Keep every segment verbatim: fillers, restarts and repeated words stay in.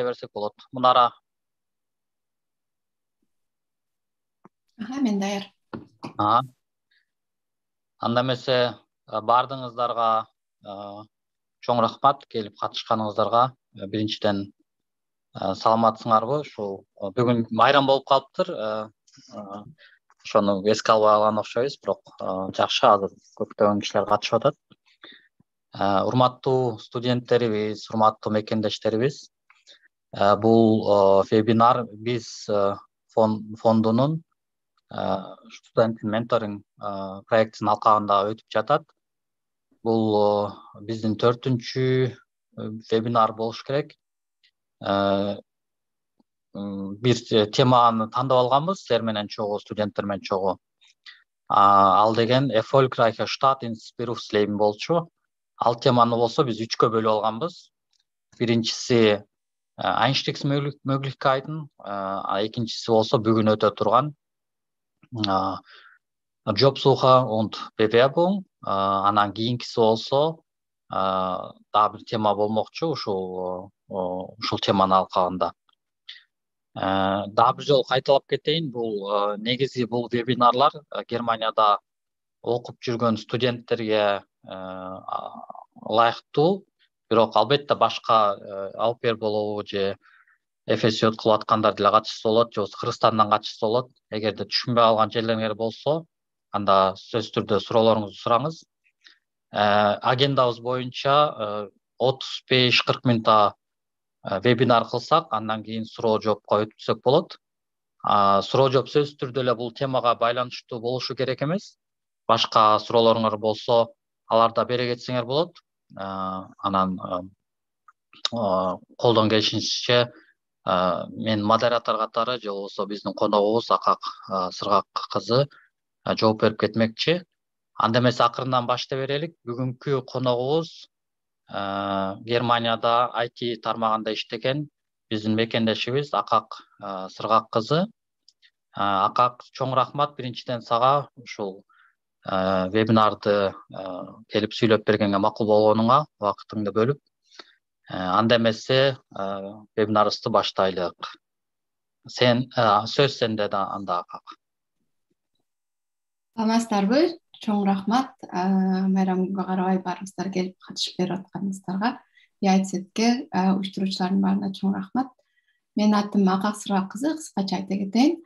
берсек болот. Мунара. Аха, мен даяр. Ага. Анда эмесе бардыңыздарга чоң рахмат келип катышканыңыздарга. Биринчиден саламатсыңарбы? Ушул бүгүн майрам болуп калыптыр. Ошону эске албай калган окшойбуз, бирок жакшы, азыр көптөгөн кишилер катышып атат. Урматтуу студенттерибиз, урматтуу мекендештерибиз, бул вебинар биз фондунун студент менторинг проектинин алкагында өтүп жатат. Бул биздин төртүнчү вебинар болуш керек. Бир теманы тандап алганбыз, силер менен чогуу, студенттер менен чогуу. Ал деген Erfolgreiche Start ins Berufsleben болчу. Ал теманы болсо биз үчкө бөлүп алганбыз. Биринчиси Einstiegsmöglichkeiten, экинчиси болсо бүгүн өтө турган Jobsuche und Bewerbung, анан кийинкиси болсо дагы бир тема болмокчу, ушул ушул теманын алкагында. Дагы бир жолу кайталап кетейин, бул негизи бул вебинарлар Германияда окуп жүргөн студенттерге ылайыктуу, бирок албетте башка алпер болобу же эфесиот кылып аткандар деле катышса болот, же Кыргызстандан катышса болот. Эгерде түшүнбөй калган жерлериңер болсо, анда сөзсүз түрдө суроолоруңузду сураңыз. Агендабыз боюнча отуз беш кырк мүнөт вебинар кылсак, андан кийин суроо жоопко өтсөк болот. Суроо жооп сөзсүз түрдө эле бул темага байланыштуу болушу керек эмес. Башка суроолоруңар болсо, аларда бере кетсеңер болот. Анан колдон келишинче мен модератор катары же болбосо биздин коногубуз Акак Сыргак кызы жооп берип кетмекчи. Анда эмесе акырындан баштап берелик. Бүгүнкү коногубуз Германияда ай ти тармагында иштеген биздин мекендешибиз Акак Сыргак кызы. Акак, чоң рахмат биринчиден сага ушул вебинарды келип сүйлөп бергенге, макул болгонуңа, убактыңды бөлүп. Анда эмесе вебинарыбызды баштайлык. Сен сөз сенде да анда Акак. Саламатсыздарбы? Чоң рахмат. Майрамга карабай баарыңыздар келип катышып берип атканыңыздарга, Яйцетке уюштуруучулардын баарына чоң рахмат. Менин атым Акак Сыргак кызы, кыскача айта кетейин.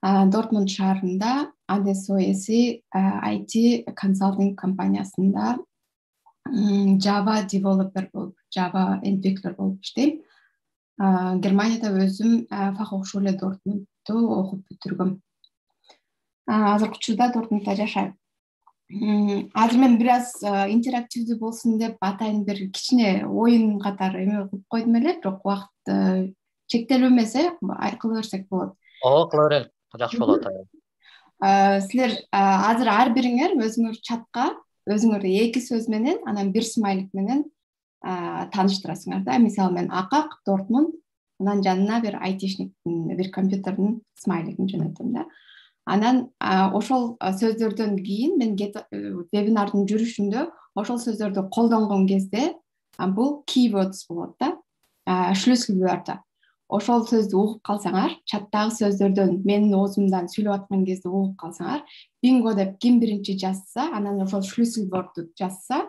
Дортмунд шаарында а дэ эс о эси ай ти консалтинг компаниясында Java developer болуп, Java entwickler болуп иштейм. Германияда өзүм Fachhochschule Dortmundту окуп бүтүргөм. Азыркы учурда Дортмундда жашайм. Азыр мен бир аз интерактивдүү болсун деп атайын бир кичине оюн катары эме кылып койдум эле, бирок убакыт чектелүү эмес, кыла берсек болот. Ооба, кыла берели. Жакшы болот. Силер азыр ар бириңер өзүңөр чатка өзүңөрдү эки сөз менен, анан бир смайлик менен тааныштырасыңар да. Мисалы мен Акак Дортмунд, анан жанына бир айтишниктин, бир компьютердин смайлигин жөнөтөм да. Анан ошол сөздөрдөн кийин мен вебинардын жүрүшүндө ошол сөздөрдү колдонгон кезде бул keywords болот да, шлюсселвörter. Ошол сөздү угуп калсаңар, чаттагы сөздөрдөн менин оозумдан сүйлөп аткан кезде угуп калсаңар, бинго деп ким биринчи жазса, анан ошол шлюсселвörtтү жазса,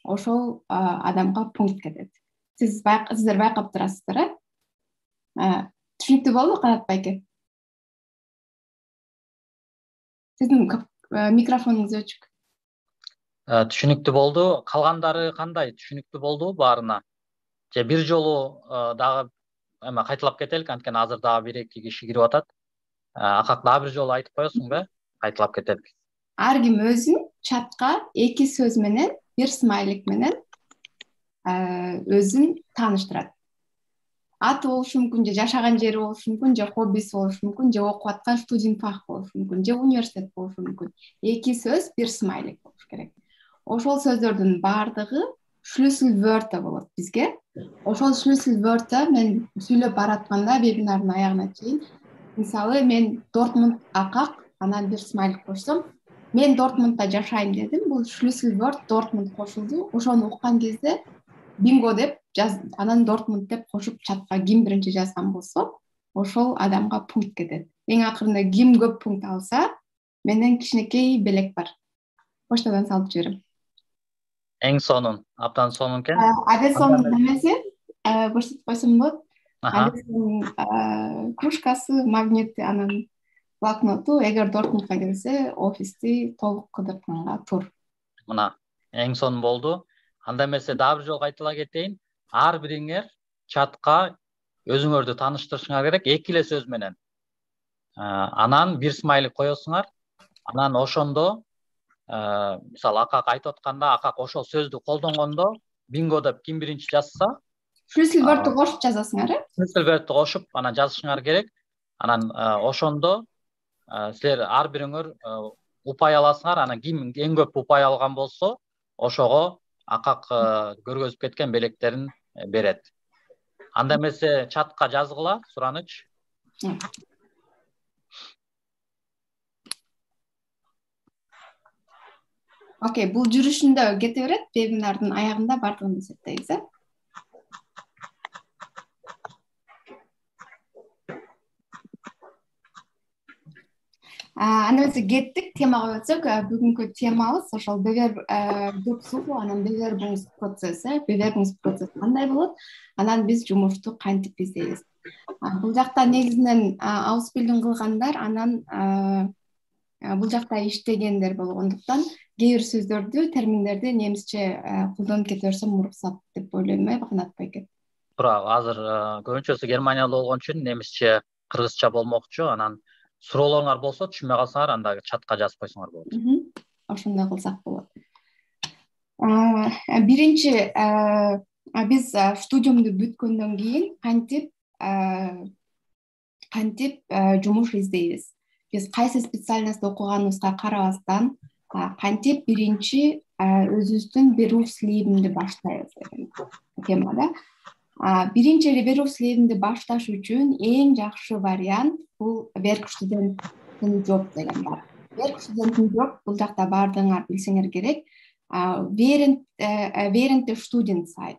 ошол адамга пункт кетет. Сиз сиздер байкап турасыздар, э? Түшүнүктүү болду, Канат байке? Сиздин микрофонуңуз өчүк. Түшүнүктүү болду. Калгандары кандай? Түшүнүктүү болду баарына? Же бир жолу дагы эме кайталап кетелик, анткени азыр дагы бир эки киши кирип атат. Акак, дагы бир жолу айтып коесуңбу? Кайталап кетелик. Ар ким өзүн чатка эки сөз менен, бир смайлик менен өзүн тааныштырат. Аты болушу мүмкүн, же жашаган жери болушу мүмкүн, же хоббиси болушу мүмкүн, же окуп аткан студентфах болушу мүмкүн, же университет болушу мүмкүн. Эки сөз, бир смайлик болуш керек. Ошол сөздөрдүн баардыгы шлюсселвörter болот бизге. Ошол шлюсселвörter мен сүйлөп баратканда вебинардын аягына чейин, мисалы мен Дортмунд Акак, анан бир смайлик кошсом, мен Дортмундда жашайм дедим. Бул шлюсселвörт Дортмунд кошулду. Ошону уккан кезде бинго деп жаз, анан Дортмунд деп кошуп чатка ким биринчи жазган болсо ошол адамга пункт кетет. Эң акырында ким көп пункт алса, менен кичинекей белек бар. Поштадан салып жиберем. Эң сонун, абдан сонун экен. Адесонун немеси, көрсөтүп койсом болот. Аха. Адесонун кружкасы, магнити, анан блокноту, эгер Дортмундка келсе, офисти толук кыдыртканга тур. Мына эң сонун болду. Анда эмесе дагы бир жолу айтыла кетейин. Ар бириңер чатка өзүңөрдү тааныштырышыңар керек эки эле сөз менен. Анан бир смайлик коесуңар. Анан ошондо мисалы Акак айтып атканда, Акак ошол сөздү колдонгондо бинго деп ким биринчи жазса, Schlüsselwörtү кошуп жазасыңар, э? Schlüsselwörtү кошуп анан жазышыңар керек. Анан ошондо силер ар бириңер упай аласыңар. Анан ким эң көп упай алган болсо, ошого Акак көргөзүп кеткен белектерин берет. Анда эмесе чатка жазгыла, Сураныч. Окей, бул жүрүшүндө кете берет, вебинардын аягында бардыгын эсептейбиз, э? Анда эмесе кеттик, темага өтсөк, бүгүнкү темабыз ошол Bewerbungssuche, анан Bewerbungsprozess, э? Bewerbungsprozess кандай болот? Анан биз жумушту кантип издейбиз? Бул жакта негизинен Ausbildung кылгандар, анан бул жакта иштегендер болгондуктан кээ бир сөздөрдү, терминдерди немисче колдонуп кете берсем уруксат деп ойлойм, э, Канат байке? Туура, азыр көбүнчөсү Германияда болгон үчүн немисче, кыргызча болмокчу. Анан суроолоруңар болсо, түшүнбөй калсаңар, анда чатка жазып койсоңор болот. Ошондой кылсак болот. Биринчи биз студиумду бүткөндөн кийин кантип кантип жумуш издейбиз? Биз кайсы специальность окуганыбызга карабастан кантип биринчи өзүбүздүн Berufslebенди баштайбыз деген тема да. Биринчи Berufslebенди башташ үчүн эң жакшы вариант бул Werkstudentenjob деген бар. Werkstudentenjob бул жакта бардыгыңар билсеңер керек. Während während der Studienzeit,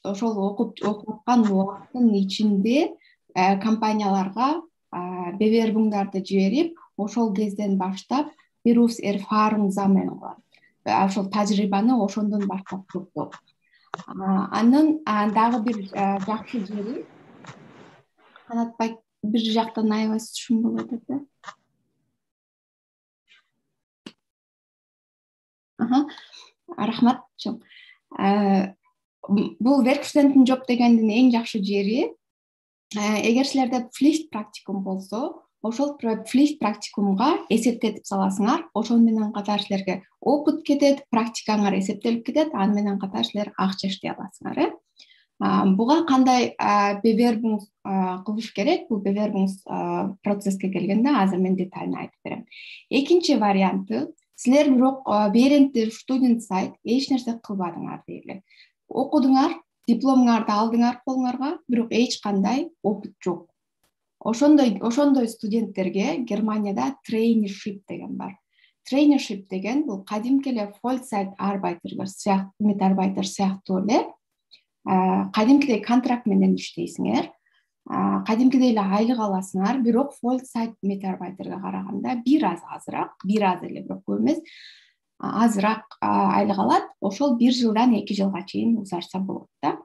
ошол окуп окуткан убакыттын ичинде компанияларга Bewerbungдарды жиберип, ошол кезден баштап Berufserfahrung sammeln кылат. Ошол тажрыйбаны ошондон баштап топтойт. Анын дагы бир жакшы жери, Канатбай бир жактан аябай шум болуп атат, э? Рахмат. Бул Werkstudentenjob дегендин эң жакшы жери, эгер силерде pflicht практикум болсо, ошол pflicht практикумга эсептетип саласыңар, ошол менен катар силерге опыт кетет, практикаңар эсептелип кетет, аны менен катар силер акча иштей аласыңар, э? Буга кандай Bewerbung кылыш керек? Бул Bewerbung процесске келгенде азыр мен детально айтып берем. Экинчи варианты, силер бирок während der Studienzeit эч нерсе кылбадыңар дейли. Окудуңар, дипломуңарды алдыңар колуңарга, бирок эч кандай опыт жок. Ошондой ошондой студенттерге Германияда traineeship деген бар. Traineeship деген бул кадимки эле Vollzeit arbeiter сыяктуу, mitarbeiter сыяктуу эле кадимкидей контракт менен иштейсиңер, кадимкидей эле айлык аласыңар, бирок Vollzeit mitarbeiterге караганда бир аз азыраак, бир аз эле, бирок көп эмес, азыраак айлык алат. Ошол бир жылдан эки жылга чейин узарса болот да.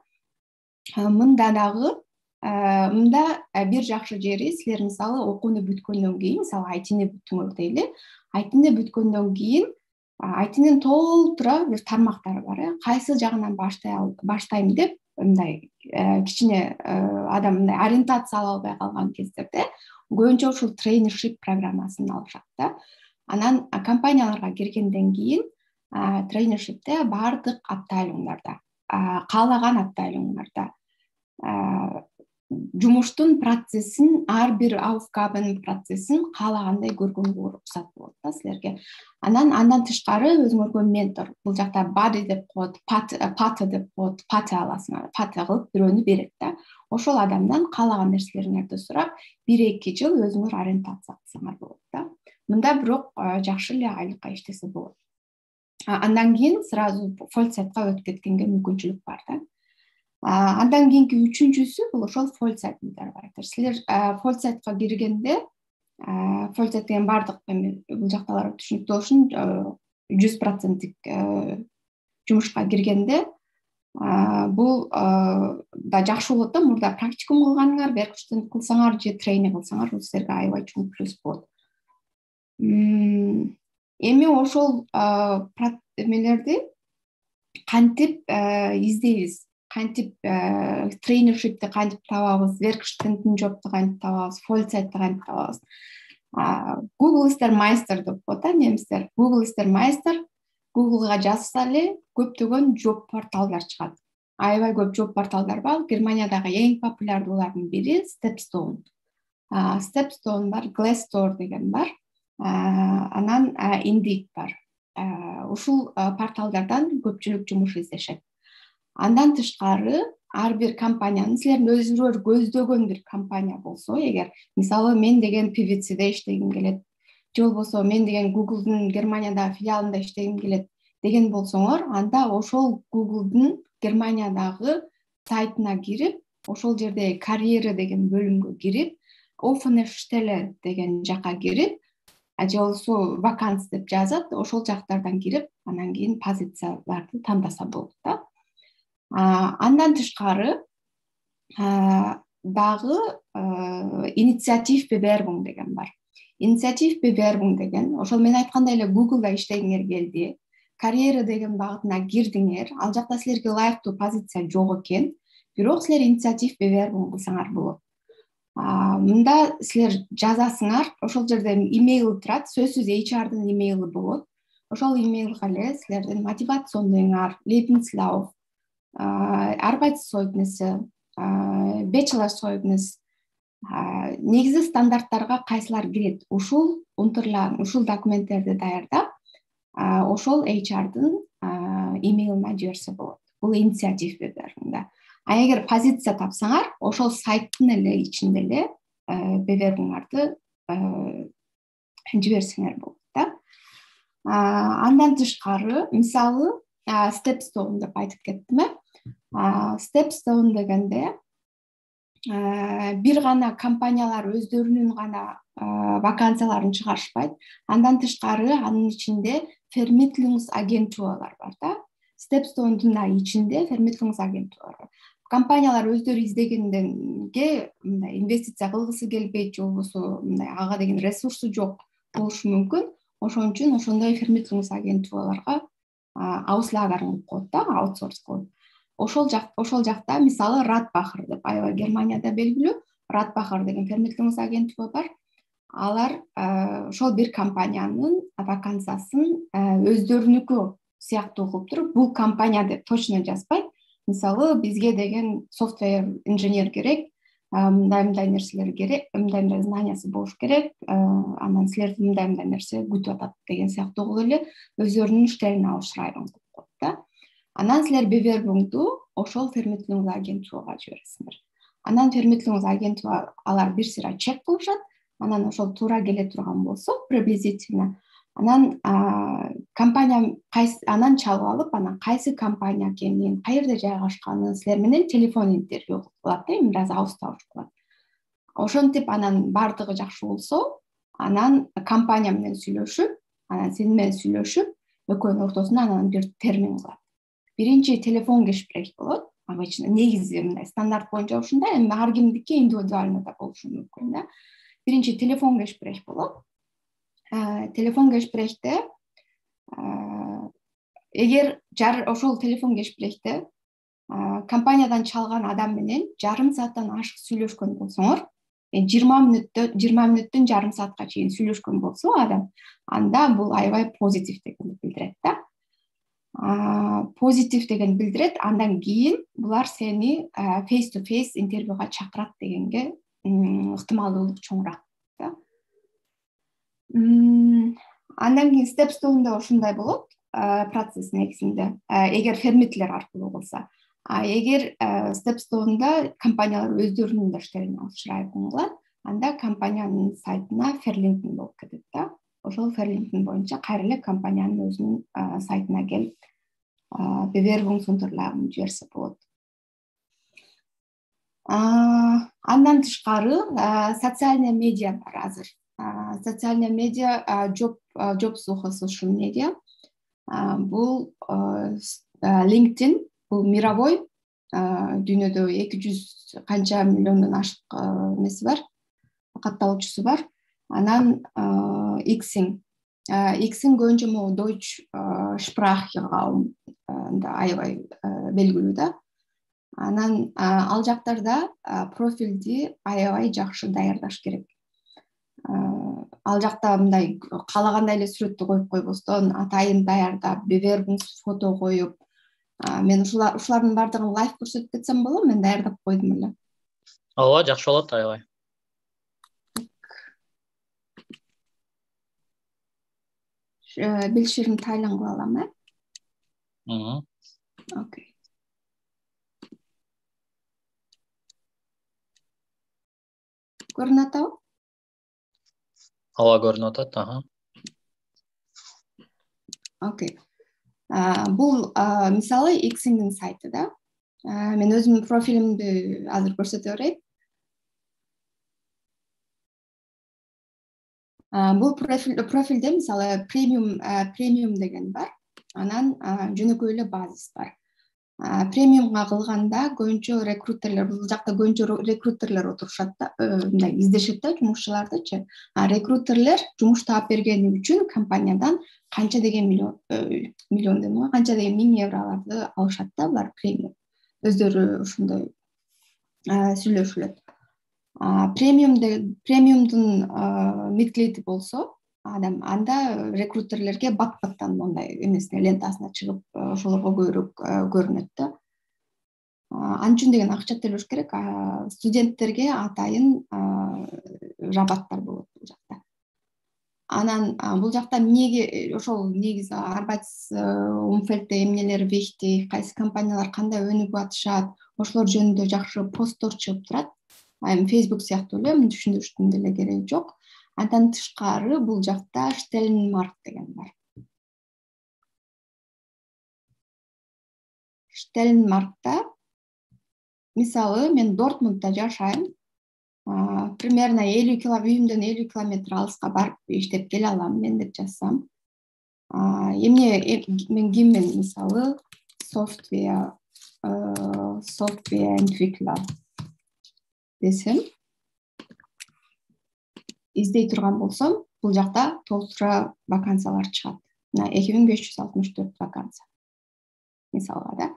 Мында дагы мында бир жакшы жери, силер мисалы окууну бүткөндөн кийин, мисалы ай ти-ни бүттүңөр дейли. ай ти-ни бүткөндөн кийин ай ти-нин толтура бир тармактары бар, э? Кайсы жагынан баштай баштайм деп, мындай кичине адам мындай ориентация ала албай калган кездерде көбүнчө ушул traineeship программасын алышат да. Анан компанияларга киргенден кийин traineeshipте бардык абтайлыңдарда, каалаган абтайлыңдарда жумуштун процессин, ар бир aufgaben процессин каалагандай көргөнгө уруксат болот да силерге. Анан андан тышкары өзүңөргө ментор, бул жакта buddy деп коет, пата деп коет, пата аласыңар, пата кылып бирөөнү берет да. Ошол адамдан каалаган нерселериңерди сурап, бир эки жыл өзүңөр ориентация кылсаңар болот да. Мында бирок жакшы эле айлыкка иштесе болот. Андан кийин сразу Vollzeitка өтүп кеткенге мүмкүнчүлүк бар да. Андан кийинки үчүнчүсү бул ошол фолд сайтыңдар бар. Силер фолд сайтка киргенде, фолд сайт деген баардык эми бул жакталар түшүнүктүү болушун жүз проценттик жумушка киргенде бул да жакшы болот да. Мурда практикум кылганыңар, беркиштен кылсаңар же трейнинг кылсаңар бул силерге аябай чоң плюс болот. Эми ошол эмелерди кантип издейбиз, кантип трейнершипти кантип табабыз, веркштендин жопту кантип табабыз, фолд сайтты кантип табабыз. Google истер майстер деп коет да немистер. Google истер майстер, Google'га жазса эле көптөгөн жоп порталдар чыгат. Аябай көп жоп порталдар бар. Германиядагы эң популярдуулардын бири Stepstone. Stepstone бар, Glassdoor деген бар. Анан Indeed бар. Ушул порталдардан көпчүлүк жумуш издешет. Андан тышкары ар бир компаниянын, силердин өзүңөр көздөгөн бир компания болсо, эгер мисалы мен деген пи ви си-де иштегим келет, же болбосо мен деген Google'дун Германиядагы филиалында иштегим келет деген болсоңор, анда ошол Google'дун Германиядагы сайтына кирип, ошол жерде карьера деген бөлүмгө кирип, offene Stelle деген жака кирип, же болбосо ваканс деп жазат, ошол жактардан кирип, анан кийин позицияларды тандаса болот да. Андан тышкары дагы инициатив Bewerbung деген бар. Инициатив Bewerbung деген, ошол мен айткандай эле Google'да иштегиңер келди, карьера деген багытына кирдиңер, ал жакта силерге ылайыктуу позиция жок экен, бирок силер инициатив Bewerbung кылсаңар болот. Мында силер жазасыңар, ошол жерде имейл турат, сөзсүз эйч ар-дын имейлы болот. Ошол имейлга эле силердин мотивационуңар, Lebenslauf, Arbeitszeugnis, Bachelorzeugnis, негизи стандарттарга кайсылар кирет, ушул унтерларын, ушул документтерди даярдап, ошол эйч ар-дын имейлине жиберсе болот. Бул инициатив Bewerbung'да. А эгер позиция тапсаңар, ошол сайттын эле ичинде эле Bewerbung'арды жиберсеңер болот да. Андан тышкары, мисалы, Stepstone деп айтып кеттим э. Stepstone дегенде бир гана компаниялар өздөрүнүн гана вакансияларын чыгарышпайт. Андан тышкары анын ичинде Vermittlungsagenturlar бар да. Stepstone'дун да ичинде Vermittlungsagenturlar бар. Компаниялар өздөрү издегенденге мындай инвестиция кылгысы келбейт, же болбосо мындай ага деген ресурсу жок болушу мүмкүн. Ошон үчүн ошондой Vermittlungsagenturlarга ауслагарың коет да, аутсорс кылып. Ошол жак, ошол жакта мисалы Radbacher деп аябай Германияда белгилүү Radbacher деген Vermittlungsagentура бар. Алар ошол бир компаниянын вакансиясын өздөрүнүкү сыяктуу кылып туруп, бул компания деп точно жазбайт. Мисалы бизге деген софтвер инженер керек, мындай-мындай нерселер керек, мындай-мындай знаниясы болуш керек, анан силерди мындай-мындай нерсе күтүп атат деген сыяктуу кылып эле өздөрүнүн иштерин алышрайбын деп коет да. Анан силер Bewerbung'ду ошол Vermittlungsagentурага жибересиңер. Анан Vermittlungsagentура алар бир сыйра чек кылышат, анан ошол туура келе турган болсо, приблизительно, анан компания кайсы, анан чалып алып, анан кайсы компания экенин, каерде жайгашканын силер менен телефон интервью кылат да, бир аз аустауч кылат. Ошентип анан бардыгы жакшы болсо, анан компания менен сүйлөшүп, анан сени менен сүйлөшүп, экөөнүн ортосунда анан бир термин кылат. Биринчи телефон гешпрех болот. Обычно негизи мындай стандарт боюнча ушундай, эми ар кимдики индивидуально да болушу мүмкүн да. Биринчи телефон гешпрех болот. Телефон гешпрехте эгер ошол телефон гешпрехте компаниядан чалган адам менен жарым сааттан ашык сүйлөшкөн болсоңор, жыйырма мүнөттө жыйырма мүнөттөн жарым саатка чейин сүйлөшкөн болсо адам, анда бул аябай позитив дегенди билдирет да. Позитив деген билдирет, андан кийин булар сени face to face интервьюга чакырат дегенге ыктымалдуулук чоңураак да. Андан кийин Stepstone'да ошондой болот, процесс негизинде, эгер фермитлер аркылуу болсо. А эгер Stepstone'да компаниялар өздөрүнүн иштерин алышрайбын кылат, анда компаниянын сайтына Verlinken болуп кетет да. Ошол Verlinken боюнча кайра эле компаниянын өзүнүн сайтына келип Bewerbungsunterlagen жиберсе болот. Андан тышкары социальный медиа бар азыр. Социальный медиа job jobs social media. Бул LinkedIn, бул мировой, дүйнөдө эки жүз канча миллиондон ашык эмеси бар, катталуучусу бар. Анан Xing, Xing көбүнчө могу Deutsch Sprache аябай белгилүү да. Анан ал жактарда профилди аябай жакшы даярдаш керек. Ал жакта мындай каалагандай эле сүрөттү коюп койбостон, атайын даярдап, вербинг фото коюп, мен ушулардын баардыгын лайф көрсөтүп кетсем болобу? Мен даярдап койдум эле. Ооба, жакшы болот, аябай. Билиширим тайлан кыла алам, э? Мм. Окей. Көрүнүп атабы? Ооба, көрүнүп атат, аха. Окей. Бул мисалы Xing'дин сайты да. Мен өзүмдүн профилимди азыр көрсөтө берейин. Бул профилде мисалы премиум премиум деген бар. Анан жөнөкөй эле базис бар. Премиумга кылганда көбүнчө рекрутерлер, бул жакта көбүнчө рекрутерлер отурушат да, мындай издешет да жумушчулардычы. Рекрутерлер жумуш таап бергени үчүн компаниядан канча деген миллион миллион дейм, канча деген миң евролорду алышат да булар премиум. Өздөрү ушундай сүйлөшүлөт. Премиум премиумдун мидклейти болсо, адам анда рекрутерлерге бат-баттан мындай эмесине лентасына чыгып, ошолорго көбүрөөк көрүнөт да. Ал үчүн деген акча төлөш керек. Студенттерге атайын рабаттар болот бул жакта. Анан бул жакта эмнеге ошол негизи арбайтсумфельдте эмнелер вихти, кайсы компаниялар кандай өнүгүп атышат, ошолор жөнүндө жакшы посттор чыгып турат. Эми Facebook сыяктуу эле түшүндүрүштүн деле кереги жок. Андан тышкары бул жакта Stellenmark деген бар. Stellenmarkта мисалы мен Дортмундда жашайм. Примерно элүү километр, үйүмдөн элүү километр алыска барып иштеп келе алам мен деп жазсам. Эмне мен киммен мисалы software software entwickler десем, издей турган болсом, бул жакта толтура вакансиялар чыгат. эки миң беш жүз алтымыш төрт вакансия. Мисалга да.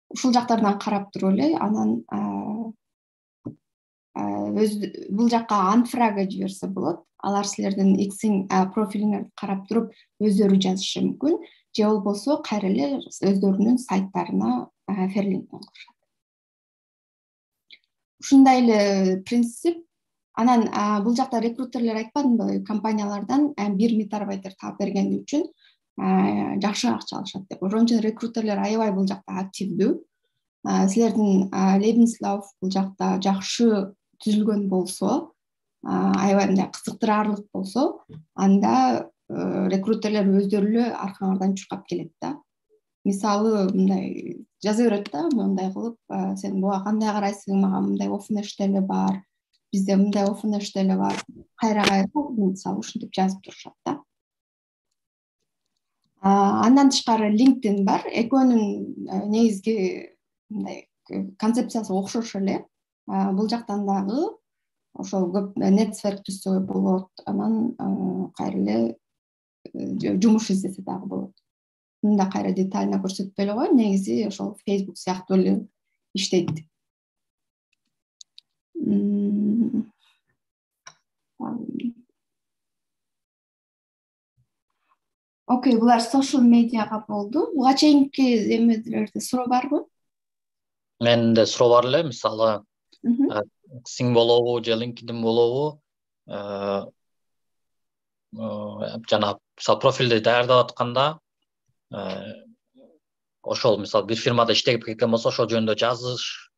Ушул жактардан карап туруп эле, анан бул жакка анфрага жиберсе болот. Алар силердин Xing профилиңерди карап туруп өздөрү жазышы мүмкүн, же болбосо кайра эле өздөрүнүн сайттарына ферлинг кылышат. Ушундай эле принцип. Анан бул жакта рекрутерлер айтпадымбы, компаниялардан бир метабайтер таап бергени үчүн жакшы акча алышат деп. Ошон үчүн рекрутерлер аябай бул жакта активдүү. Силердин Lebenslauf бул жакта жакшы түзүлгөн болсо, аябай мындай кызыктырарлык болсо, анда рекрутерлер өздөрү эле аркаңардан чуркап келет да. Мисалы мындай жаза берет да, мындай кылып, сен буга кандай карайсың, мага мындай офнеш деле бар, бизде мындай офнеш деле бар. Кайра-кайра мисалы ушинтип жазып турушат да. Андан тышкары LinkedIn бар. Экөөнүн негизги мындай концепциясы окшош эле. Бул жактан дагы ошол көп нетверк түзсө болот. Анан кайра эле жумуш издесе дагы болот. Мында кайра детально көрсөтпөй эле коеюн, негизи ошол Facebook сыяктуу эле иштейт. Окей, булар social медиага болду. Буга чейинки эмелерде суроо барбы? Менде суроо бар эле, мисалы Xing болобу же LinkedIn болобу, жана мисалы профилди даярдап атканда ошол мисалы бир фирмада иштеп кеткен болсо, ошол жөнүндө жазыш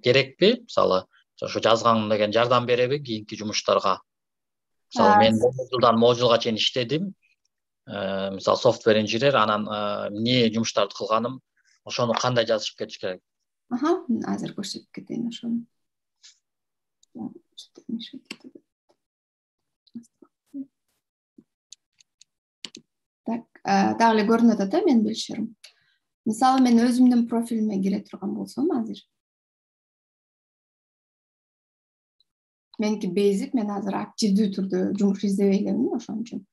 керекпи? Мисалы ошо жазган деген жардам береби кийинки жумуштарга? Мисалы мен могу жылдан могу жылга чейин иштедим. Мисалы софтвер инженер, анан эмне жумуштарды кылганым, ошону кандай жазышып кетиш керек? Аха, азыр көрсөтүп кетейин ошону. Так, дагы эле көрүнүп атат э менин билишиrim. Мисалы мен өзүмдүн профилиме кире турган болсом азыр. Меники basic, мен азыр активдүү түрдө жумуш издебей элемин, ошон үчүн.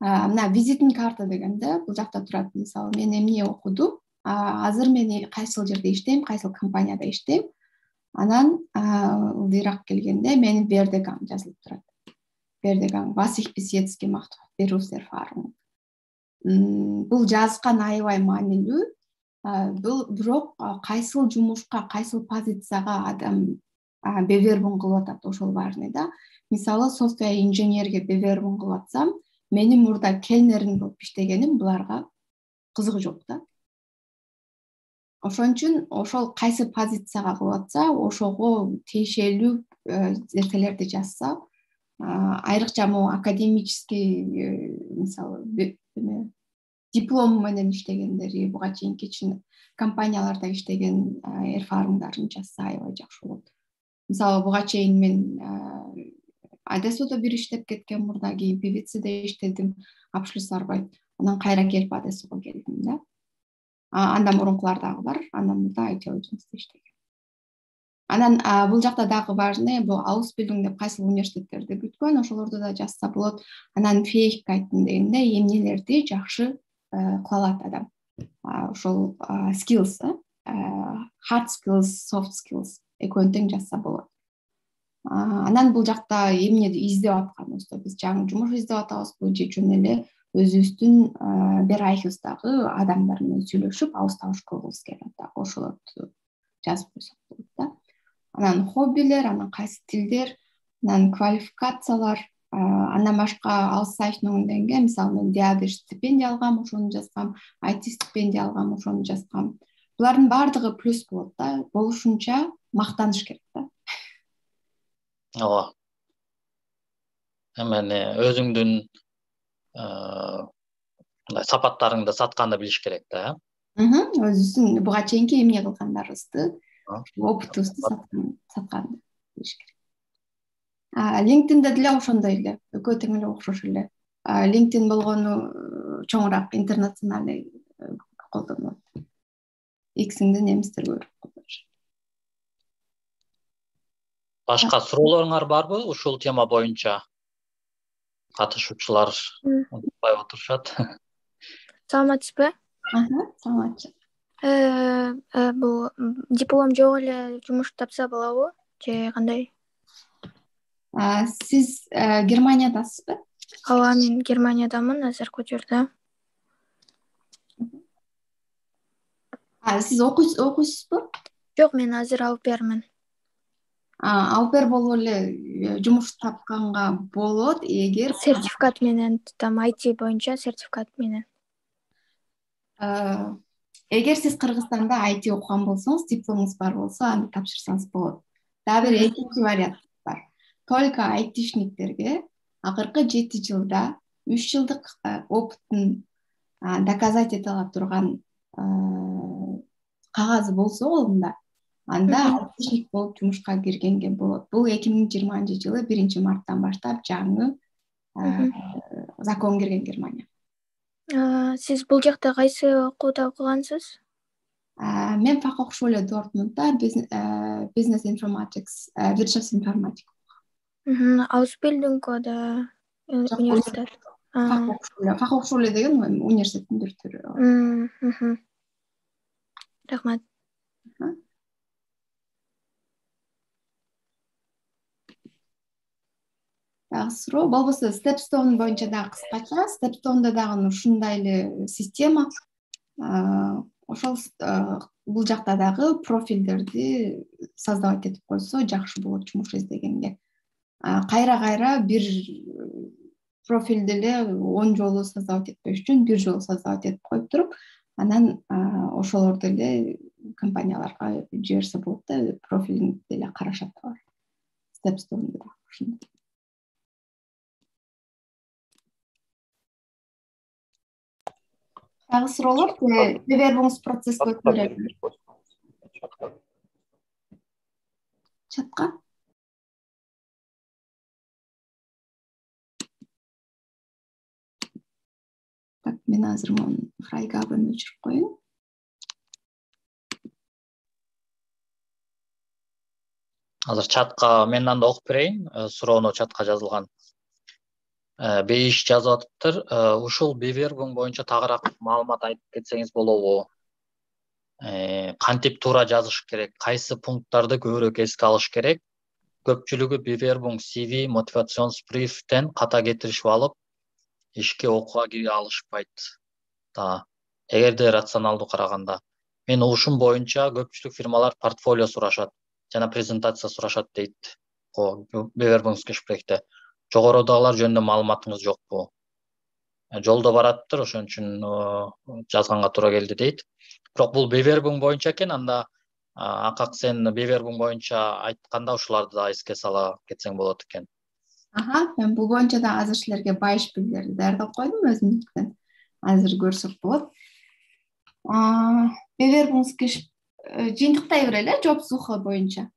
Мына визитинг карта дегенде бул жакта турат. Мисалы мен эмне окудум, азыр мен кайсыл жерде иштейм, кайсыл компанияда иштейм. Анан ылдыйраак келгенде менин Вердеган жазылып турат. Вердеган, was ich bis jetzt gemacht habe, Berufserfahrung. Бул жазган аябай маанилүү. Бул бирок кайсыл жумушка, кайсыл позицияга адам бевербун кылып атат, ошол важный да. Мисалы софтвер инженерге бевербун кылып атсам, менин мурда келнерин болуп иштегеним буларга кызыгы жок да. Ошон үчүн ошол кайсы позицияга кылып атса, ошого тиешелүү нерселерди жазса, айрыкча могу академический, мисалы диплом менен иштегендери, буга чейинки компанияларда иштеген эрфарымдарын жазса аябай жакшы болот. Мисалы буга чейин мен Одессада бир иштеп кеткен, мурда кийин певицеде иштедим, Abschluss Arbeit. Анан кайра келип Одессага келдим да. Андан мурункулар дагы бар, андан мурда ай ти агентствода иштегем. Анан бул жакта дагы важный, бул Ausbildung деп кайсыл университеттерди бүткөн, ошолорду да жазса болот. Анан Fähigkeiten дегенде эмнелерди жакшы кыла алат адам. Ошол skills, hard skills, soft skills экөөнү тең жазса болот. Анан бул жакта эмне издеп атканыбызды, биз жаңы жумуш издеп атабызбы же жөн эле өзүбүздүн Bereich'ыбыздагы адамдар менен сүйлөшүп, алыс-табыш кылгыбыз келет да, ошолорду жазып койсок болот да. Анан хоббилер, анан кайсы тилдер, анан квалификациялар, андан башка Auszeichnungen, мисалы мен диагош стипендия алгам, ошону жазгам, ай ти стипендия алгам, ошону жазгам. Булардын баардыгы плюс болот да, болушунча мактаныш керек да. Ооба. Эми өзүңдүн мындай сапаттарыңды сатканды билиш керек да, э? Өзүбүздүн буга чейинки эмне кылгандарыбызды, опытыбызды сатканды билиш керек. LinkedIn'де деле ошондой эле, экөө тең эле окшош эле. LinkedIn болгону чоңураак интернациональный колдонулат. X'инде немистер көрүп колдонушат. Башка суроолоруңар барбы ушул тема боюнча? Катышуучулар унутпай отурушат. Саламатсызбы? Аха, саламатчы. Э, бул диплом жок эле жумуш тапса болобу же кандай? Сиз Германиядасызбы? Ооба, мен Германиядамын, азыр көчөрдө. Сиз окуйсузбу? Жок, мен азыр алып бермин. Алпер болуп эле жумуш тапканга болот, эгер сертификат менен, там ай ти боюнча сертификат менен. Эгер сиз Кыргызстанда ай ти окуган болсоңуз, дипломуңуз бар болсо, аны тапшырсаңыз болот. Дагы бир экинчи вариант бар. Только айтишниктерге акыркы жети жылда үч жылдык опытын доказать эте ала турган кагазы болсо колунда, анда айтишник болуп жумушка киргенге болот. Бул эки миң жыйырманчы жылы биринчи марттан баштап жаңы закон кирген Германия. Сиз бул жакта кайсы окууда окугансыз? Мен Fachhochschule Dortmundda Business Informatics, Wirtschaftsinformatik. Ausbildung oder университет? Fachhochschule. Fachhochschule деген университеттин бир түрү. Рахмат. Дагы суроо болбосо Stepstone боюнча дагы кыскача, Stepstone'да дагы ушундай эле система. Ошол бул жакта дагы профилдерди создавать этип койсо жакшы болот жумуш издегенге. Кайра-кайра бир профилди эле он жолу создавать этпеш үчүн бир жолу создавать этип коюп туруп, анан ошолорду эле компанияларга жиберсе болот да, профилиңди эле карашат да. Stepstone'да дагы ушундай. Дагы суроолор, бевербуңуз процесске өтүп берели. чатка. Так, мен азыр мону фрайгабын өчүрүп коеюн. Азыр чатка мен анда окуп берейин. Суроону чатка жазылган. Бейиш жазып атыптыр. Ушул Bewerbung боюнча тагыраак маалымат айтып кетсеңиз болобу? Кантип туура жазыш керек? Кайсы пункттарды көбүрөөк эске алыш керек? Көпчүлүгү Bewerbung си ви мотивациonsbriefтен ката кетиришип алып, ишке окууга кире алышпайт. Да, эгерде рационалдуу караганда, мен угушум боюнча көпчүлүк фирмалар портфолио сурашат жана презентация сурашат дейт. Bewerbungsgesprächте. Жогорудагылар жөнүндө маалыматыңыз жокпу? Жолдо бараттыр, ошон үчүн жазганга туура келди дейт. Бирок бул Bewerbung боюнча экен, анда акак сен Bewerbung боюнча айтканда ушуларды да эске сала кетсең болот экен. Аха, мен бул боюнча да азыр силерге байыш билдирди даярдап койдум өзүмдүктөн. Азыр көрсөк болот. Bewerbungsgespräch жыйынтыктай берели, жоп сухо боюнча.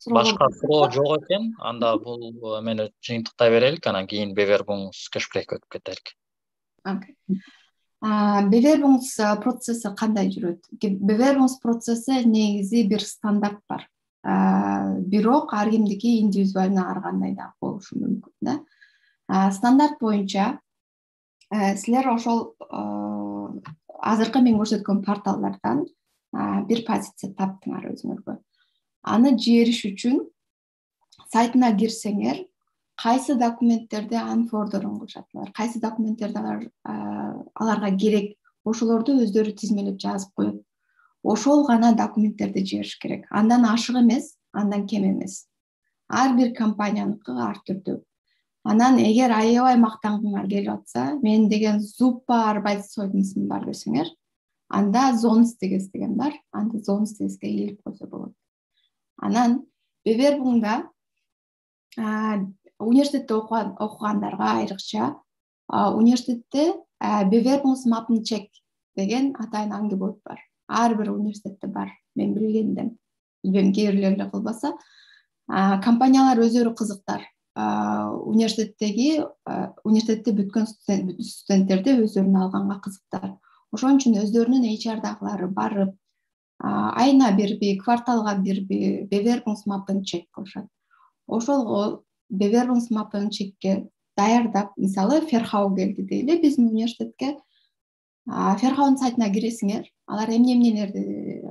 Башка суроо жок экен, анда бул мени жыйынтыктай берелик, анан кийин Bewerbungsgesprächке өтүп кетелик. Окей. Bewerbungs процесси кандай жүрөт? Bewerbungs процесси негизи бир стандарт бар. Бирок ар кимдики индивидуально ар кандай да болушу мүмкүн да. Стандарт боюнча силер ошол азыркы мен көрсөткөн порталдардан бир позиция таптыңар өзүңөргө. Аны жибериш үчүн сайтына кирсеңер, кайсы документтерди анфордеринг кылышат, кайсы документтерди аларга керек, ошолорду өздөрү тизмелеп жазып коет. Ошол гана документтерди жибериш керек. Андан ашык эмес, андан кем эмес. Ар бир компанияныкы ар түрдүү. Анан эгер аябай мактангыңар келип атса, мен деген super arbeitszeugnisим бар десеңер, анда Zonstigis деген бар, анда Zonstigisке илип койсо болот. Анан Bewerbungда университетте окугандарга айрыкча университетте Bewerbungsmappencheck деген атайын аңгебот бар. Ар бир университетте бар, мен билгенден. Билбейм, кээ бирлери эле кылбаса, компаниялар өздөрү кызыктар. Университеттеги университетте бүткөн студенттерди өздөрүнө алганга кызыктар. Ошон үчүн өздөрүнүн эйч ар-дагылары барып, айына бирби, кварталга бирби Bewerbungsmappencheck кылышат. Ошол Bewerbungsmappencheckке даярдап, мисалы, Ферхау келди дейли биздин университетке. Ферхаунун сайтына киресиңер, алар эмне-эмнелерди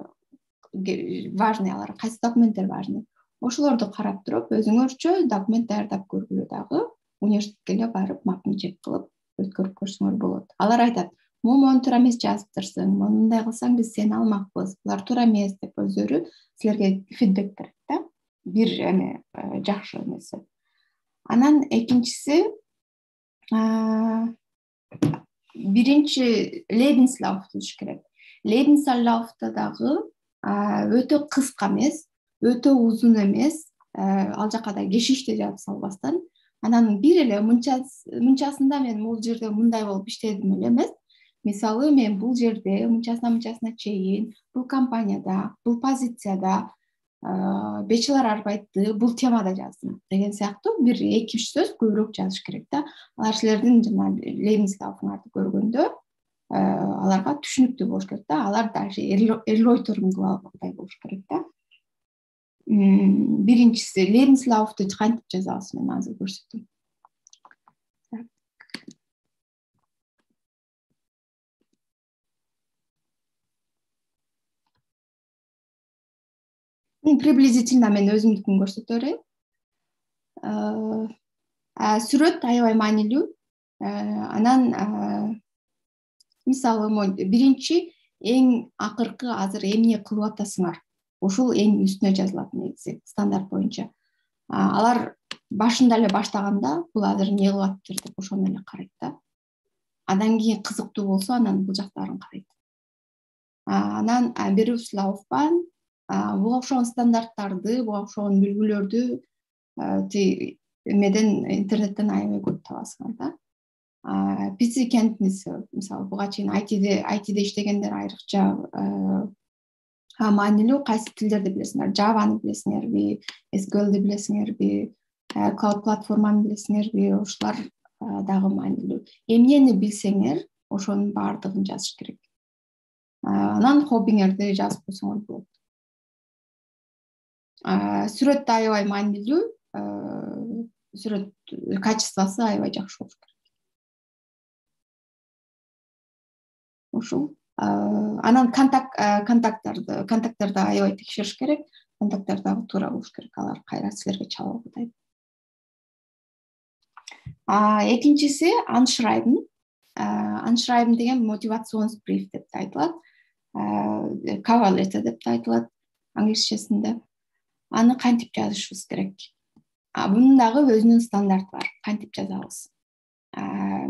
важный, алар кайсы документтер важный. Ошолорду карап туруп, өзүңөрчө документ даярдап көргүлө дагы университетке эле барып маппенчек кылып өткөрүп көрсөңөр болот. Алар айтат, мону туура эмес жазыптырсың, мындай кылсаң биз сени алмакпыз, булар туура эмес деп өздөрү силерге фидбек берет да. Бир эме жакшы эмеси. Анан экинчиси биринчи Lebenslauf түзүш керек. Lebenslaufта дагы өтө кыска эмес, өтө узун эмес, ал жака да кешишти жазып салбастан, анан бир эле мынчасында мен бул жерде мындай болуп иштедим эле эмес. Мисалы, мен бул жерде мынчасына-мынчасына чейин бул компанияда, бул позицияда бечелар арбайтты бул темада жаздым деген сыяктуу бир эки үч сөз көбүрөөк жазыш керек да. Алар силердин жана Lebenslaufуңарды көргөндө аларга түшүнүктүү болуш керек да. Алар даже эройторун кыла алгандай болуш керек да. Биринчиси Lebenslaufты кантип жазабыз, мен азыр көрсөтөм. Приблизительно мен өзүмдүкүн көрсөтө берейин. Сүрөт аябай маанилүү. Анан мисалы, биринчи эң акыркы азыр эмне кылып атасыңар? Ошол эң үстүнө жазылат негизи стандарт боюнча. Алар башында эле баштаганда бул азыр эмне кылып атыптыр деп ошону эле карайт да. Андан кийин кызыктуу болсо, анан бул жактарын карайт. Анан Berufslaufbahn буга окшогон стандарттарды, буга окшогон бүлгүлөрдү эмеден интернеттен аябай көп табасыңар да. Пицци кентниси, мисалы, буга чейин айтиде айтиде иштегендер айрыкча маанилүү кайсы тилдерди билесиңер? Java'ны билесиңерби, эс ку элди билесиңерби, cloud платформаны билесиңерби? Ошолар дагы маанилүү. Эмнени билсеңер, ошонун баардыгын жазыш керек. Анан хоббиңерди жазып койсоңор болот. Сүрөт да аябай маанилүү. Сүрөт качествосу аябай жакшы болуш керек. Ошол. Анан контакт контакттарды, контакттарды аябай текшериш керек. Контакттар дагы туура болуш керек. Алар кайра силерге чалып атайт. Экинчиси аншрайбен. Аншрайбен деген мотивацион бриф деп айтылат. Cover letter деп айтылат англисчесинде. Аны кантип жазышыбыз керек? Бунун дагы өзүнүн стандарты бар. Кантип жазабыз?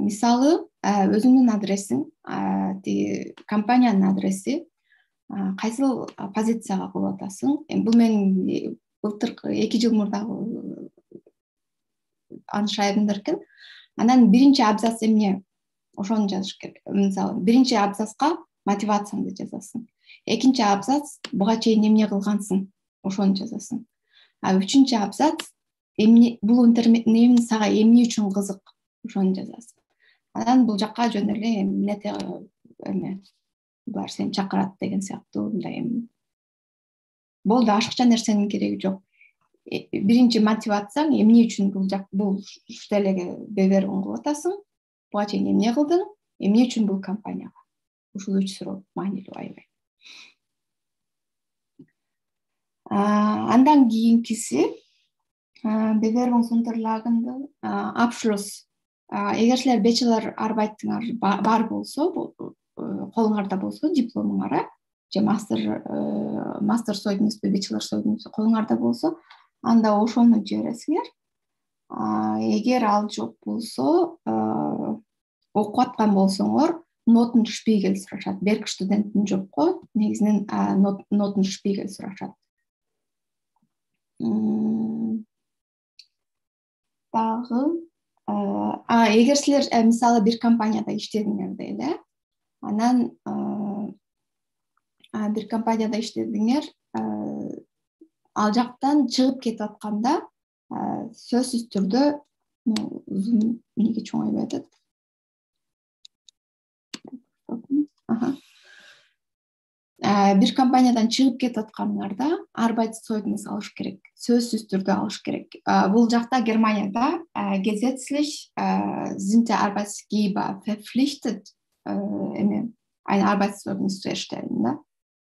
Мисалы, өзүңдүн адресиң, компаниянын адреси, кайсыл позицияга кылып атасың? Бул менин былтыркы эки жыл мурдагы аншрайбендер экен. Анан биринчи абзац эмне? Ошону жазыш керек. Мисалы, биринчи абзацка мотивацияңды жазасың. Экинчи абзац буга чейин эмне кылгансың? Ошону жазасың. А үчүнчү абзац эмне бул интернет сага эмне үчүн кызык? Ошону жазасың. Анан бул жакка жөн эле эмнете эме булар сени чакырат деген сыяктуу мындай эми. Болду, ашыкча нерсенин кереги жок. Биринчи мотивацияң эмне үчүн бул жак бул штелеге бевериң кылып атасың? Буга чейин эмне кылдың? Эмне үчүн бул компанияга? Ушул үч суроо маанилүү аябай. Андан кийинкиси Bewerbung Unterlagen Abschluss. Эгер силер bachelor арбайтыңар бар болсо, колуңарда болсо, дипломуңар, же мастер мастер сойгунуспу, bachelor сойгунуспу колуңарда болсо, анда ошону жибересиңер. Эгер ал жок болсо, окуп аткан болсоңор, Noten Spiegel сурашат. Берк студенттин жокко, негизинен Noten Spiegel сурашат. Дагы а эгер силер мисалы бир компанияда иштедиңер эле, анан бир компанияда иштедиңер, ал жактан чыгып кетип атканда сөзсүз түрдө узун эмнеге чоңойбой атат. Бир компаниядан чыгып кетип атканыңарда Arbeitszeugnis алыш керек. Сөзсүз түрдө алыш керек. Бул жакта Германияда gesetzlich sind der Arbeitgeber verpflichtet эме ein Arbeitszeugnis zu erstellen, да.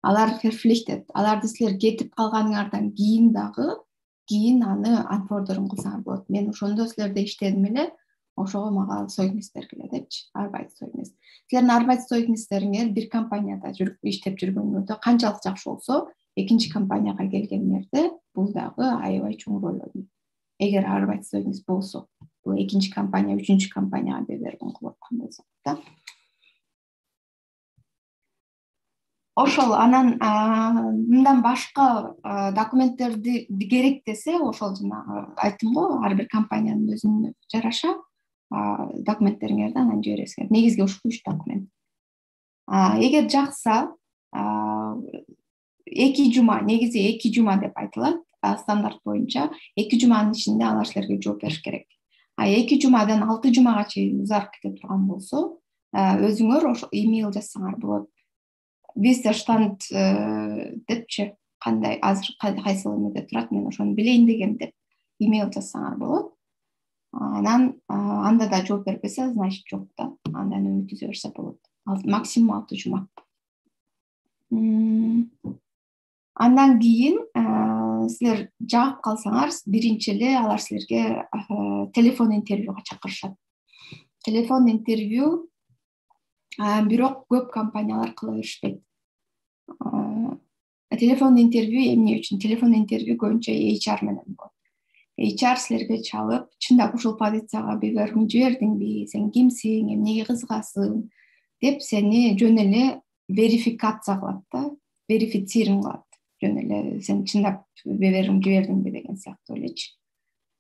Алар verpflichtet. Аларды силер кетип калганыңардан кийин дагы кийин аны анфордеринг кылсаңар болот. Мен ошондо силерде иштедим эле, ошого мага сойгунус бергиле депчи, Arbeitszeugnis. Силердин Arbeitszeugnisтериңер бир компанияда жүрүп иштеп жүргөнүңөрдө канчалык жакшы болсо, экинчи компанияга келгениңерде бул дагы аябай чоң роль ойнойт. Эгер Arbeitszeugnis болсо, бул экинчи компания, үчүнчү компанияга берберген кылып аткан болсо, да. Ошол анан мындан башка документтерди керек десе, ошол жана айттым го, ар бир компаниянын өзүнө жараша документтериңерди анан жибересиңер. Негизги ушул үч документ. Эгер жакса, эки жума, негизи эки жума деп айтылат, стандарт боюнча эки жуманын ичинде алар силерге жооп бериш керек. А эки жумадан алты жумага чейин узарып кете турган болсо, өзүңөр ошо имейл жазсаңар болот. Виссерштанд депчи, кандай азыр кайсыл эмеде турат, мен ошону билейин деген деп имейл жазсаңар болот. Анан анда да жооп бербесе, значит жок да. Андан үмүтүзө берсе болот. Максимум алты жума. Андан кийин силер жагып калсаңар, биринчи эле алар силерге телефон интервьюга чакырышат. Телефон интервью бирок көп компаниялар кыла беришпейт. Телефон интервью эмне үчүн? Телефон интервью көбүнчө эйч ар менен болот. эйч ар силерге чалып, чындап ушул позицияга бевериң жибердиңби, сен кимсиң, эмнеге кызыгасың деп сени жөн эле верификация кылат да, верифициринг кылат. Жөн эле сен чындап бевериң жибердиңби деген сыяктуу элечи.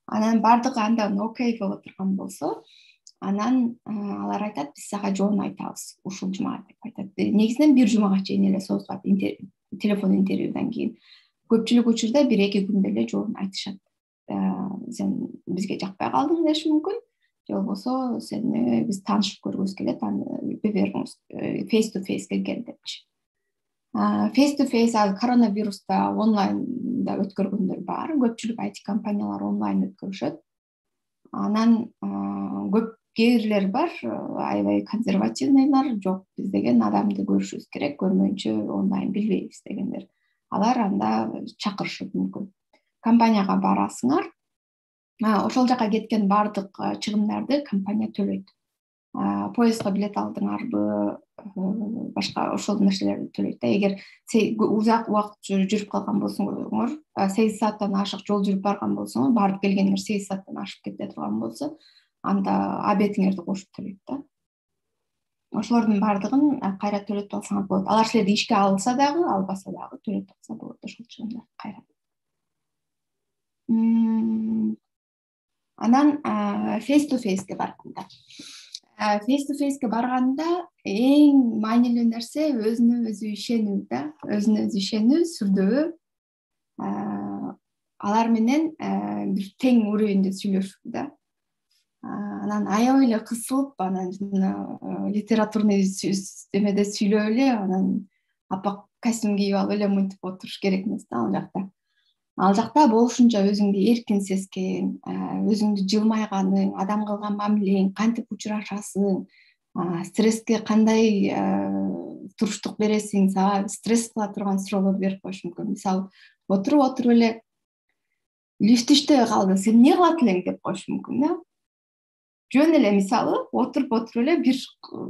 Анан бардыгы андан окей боло турган болсо, анан алар айтат, биз сага жоон айтабыз ушул жумага деп айтат. Негизинен бир жумага чейин эле созулат телефон интервьюдан кийин көпчүлүк учурда бир эки күндө эле жообун айтышат. Сен бизге жакпай калдың деши мүмкүн, же болбосо сени биз таанышып көргүбүз келет, аны бериңиз face to face келгел депчи. Face to face ал коронавируста онлайнда өткөргөндөр бар. Көпчүлүк ай ти компаниялар онлайн өткөрүшөт. Анан көп кээрлер бар, аябай консервативныйлар, жок биз деген адамды көрүшүбүз керек, көрмөйүнчө онлайн билбейбиз дегендер. Алар анда чакырышат мүмкүн. Компанияга барасыңар, ошол жака кеткен баардык чыгымдарды компания төлөйт. Поездго билет алдыңарбы, башка ошол нерселерди төлөйт да. Эгер узак убакыт жүрүп калган болсоңор, сегиз сааттан ашык жол жүрүп барган болсоңор, барып келгениңер сегиз сааттан ашып кете турган болсо, анда обедиңерди кошуп төлөйт да. Ошолордун баардыгын кайра төлөтүп алсаңар болот. Алар силерди ишке алса дагы, албаса дагы төлөтүп алса болот ошол чыгымдарды кайра. Анан face to face'ке барганда. Face to face'ке барганда эң маанилүү нерсе өзүнө өзү ишенүү да, өзүнө өзү ишенүү, сүрдөө. Алар менен бир тең уровеньде сүйлөшүү да. Анан аябай эле кысылып, анан литературный эмеде сүйлөп эле, анан апак костюм кийип алып эле мынтип отуруш керек эмес да ал жакта. Ал жакта болушунча өзүңдү эркин сезген, өзүңдү жылмайганың, адам кылган мамилең, кантип учурашасың, стресске кандай туруштук бересиң, сага стресс кыла турган суроолорду берип коюшу мүмкүн. Мисалы, отуруп отуруп эле лифт иштебей калды, сен эмне кылат элең деп коюшу мүмкүн да. Жөн эле мисалы, отуруп отуруп эле бир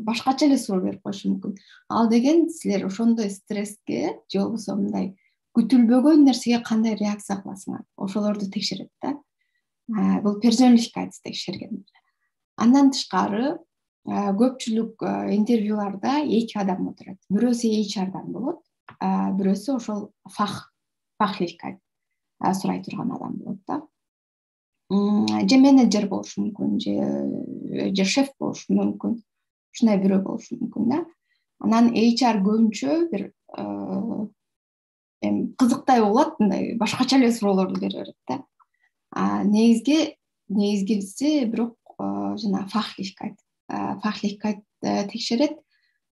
башкача эле суроо берип коюшу мүмкүн. Ал деген силер ошондой стресске же болбосо мындай күтүлбөгөн нерсеге кандай реакция кыласыңар, ошолорду текшерет да. Бул persönlichkeit текшерген. Андан тышкары көпчүлүк интервьюларда эки адам отурат. Бирөөсү эйч ар-дан болот, бирөөсү ошол фах, fachlichkeit сурай турган адам болот да. Же менеджер болушу мүмкүн, же же шеф болушу мүмкүн. Ушундай бирөө болушу мүмкүн да. Анан эйч ар көбүнчө бир эми кызыктай болот, мындай башкача эле суроолорду бере берет да. Негизги негизгиси бирок жана fachlichkeit. Fachlichkeit текшерет.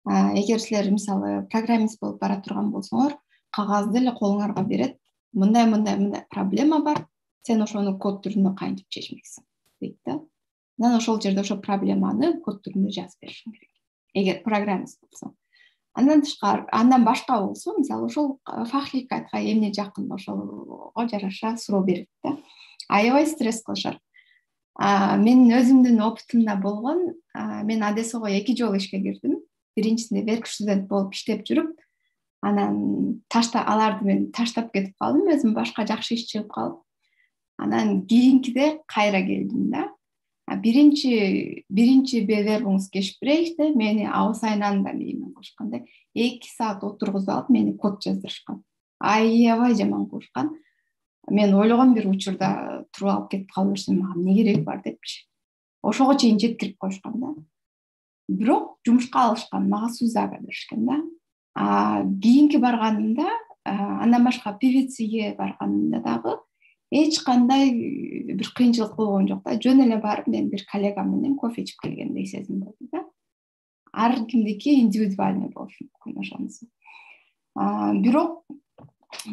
Эгер силер мисалы программист болуп бара турган болсоңор, кагазды эле колуңарга берет. Мындай мындай мындай проблема бар. Сен ошону код түрүндө кантип чечмексиң дейт да. Анан ошол жерде ошол проблеманы код түрүндө жазып беришиң керек. Эгер программист болсоң. Андан тышкары, андан башка болсо, мисалы ошол fachlichkeitка эмне жакын, ошолго жараша суроо берет да. Аябай стресс кылышат. Мен өзүмдүн опытымда болгон, мен Одессого эки жолу ишке кирдим. Биринчисинде верк студент болуп иштеп жүрүп, анан ташта аларды мен таштап кетип калдым, өзүм башка жакшы иш чыгып калып. Анан кийинкиде кайра келдим да. Биринчи биринчи бевербуңуз гешпрейхте мени абыс айнанда меймен кылышканда эки саат отургузуп алып мени код жаздырышкан. Аябай жаман кылышкан. Мен ойлогом бир учурда туруп алып кетип кала берсем, мага эмне кереги бар депчи. Ошого чейин жеткирип коюшкан да. Бирок жумушка алышкан, мага сузага беришкен да. А кийинки барганымда, андан башка певициге барганымда дагы эч кандай бир кыйынчылык болгон жок да. Жөн эле барып мен бир коллегам менен кофе ичип келгендей сезим болду да. Ар кимдики индивидуальный болушу мүмкүн ошонусу. Бирок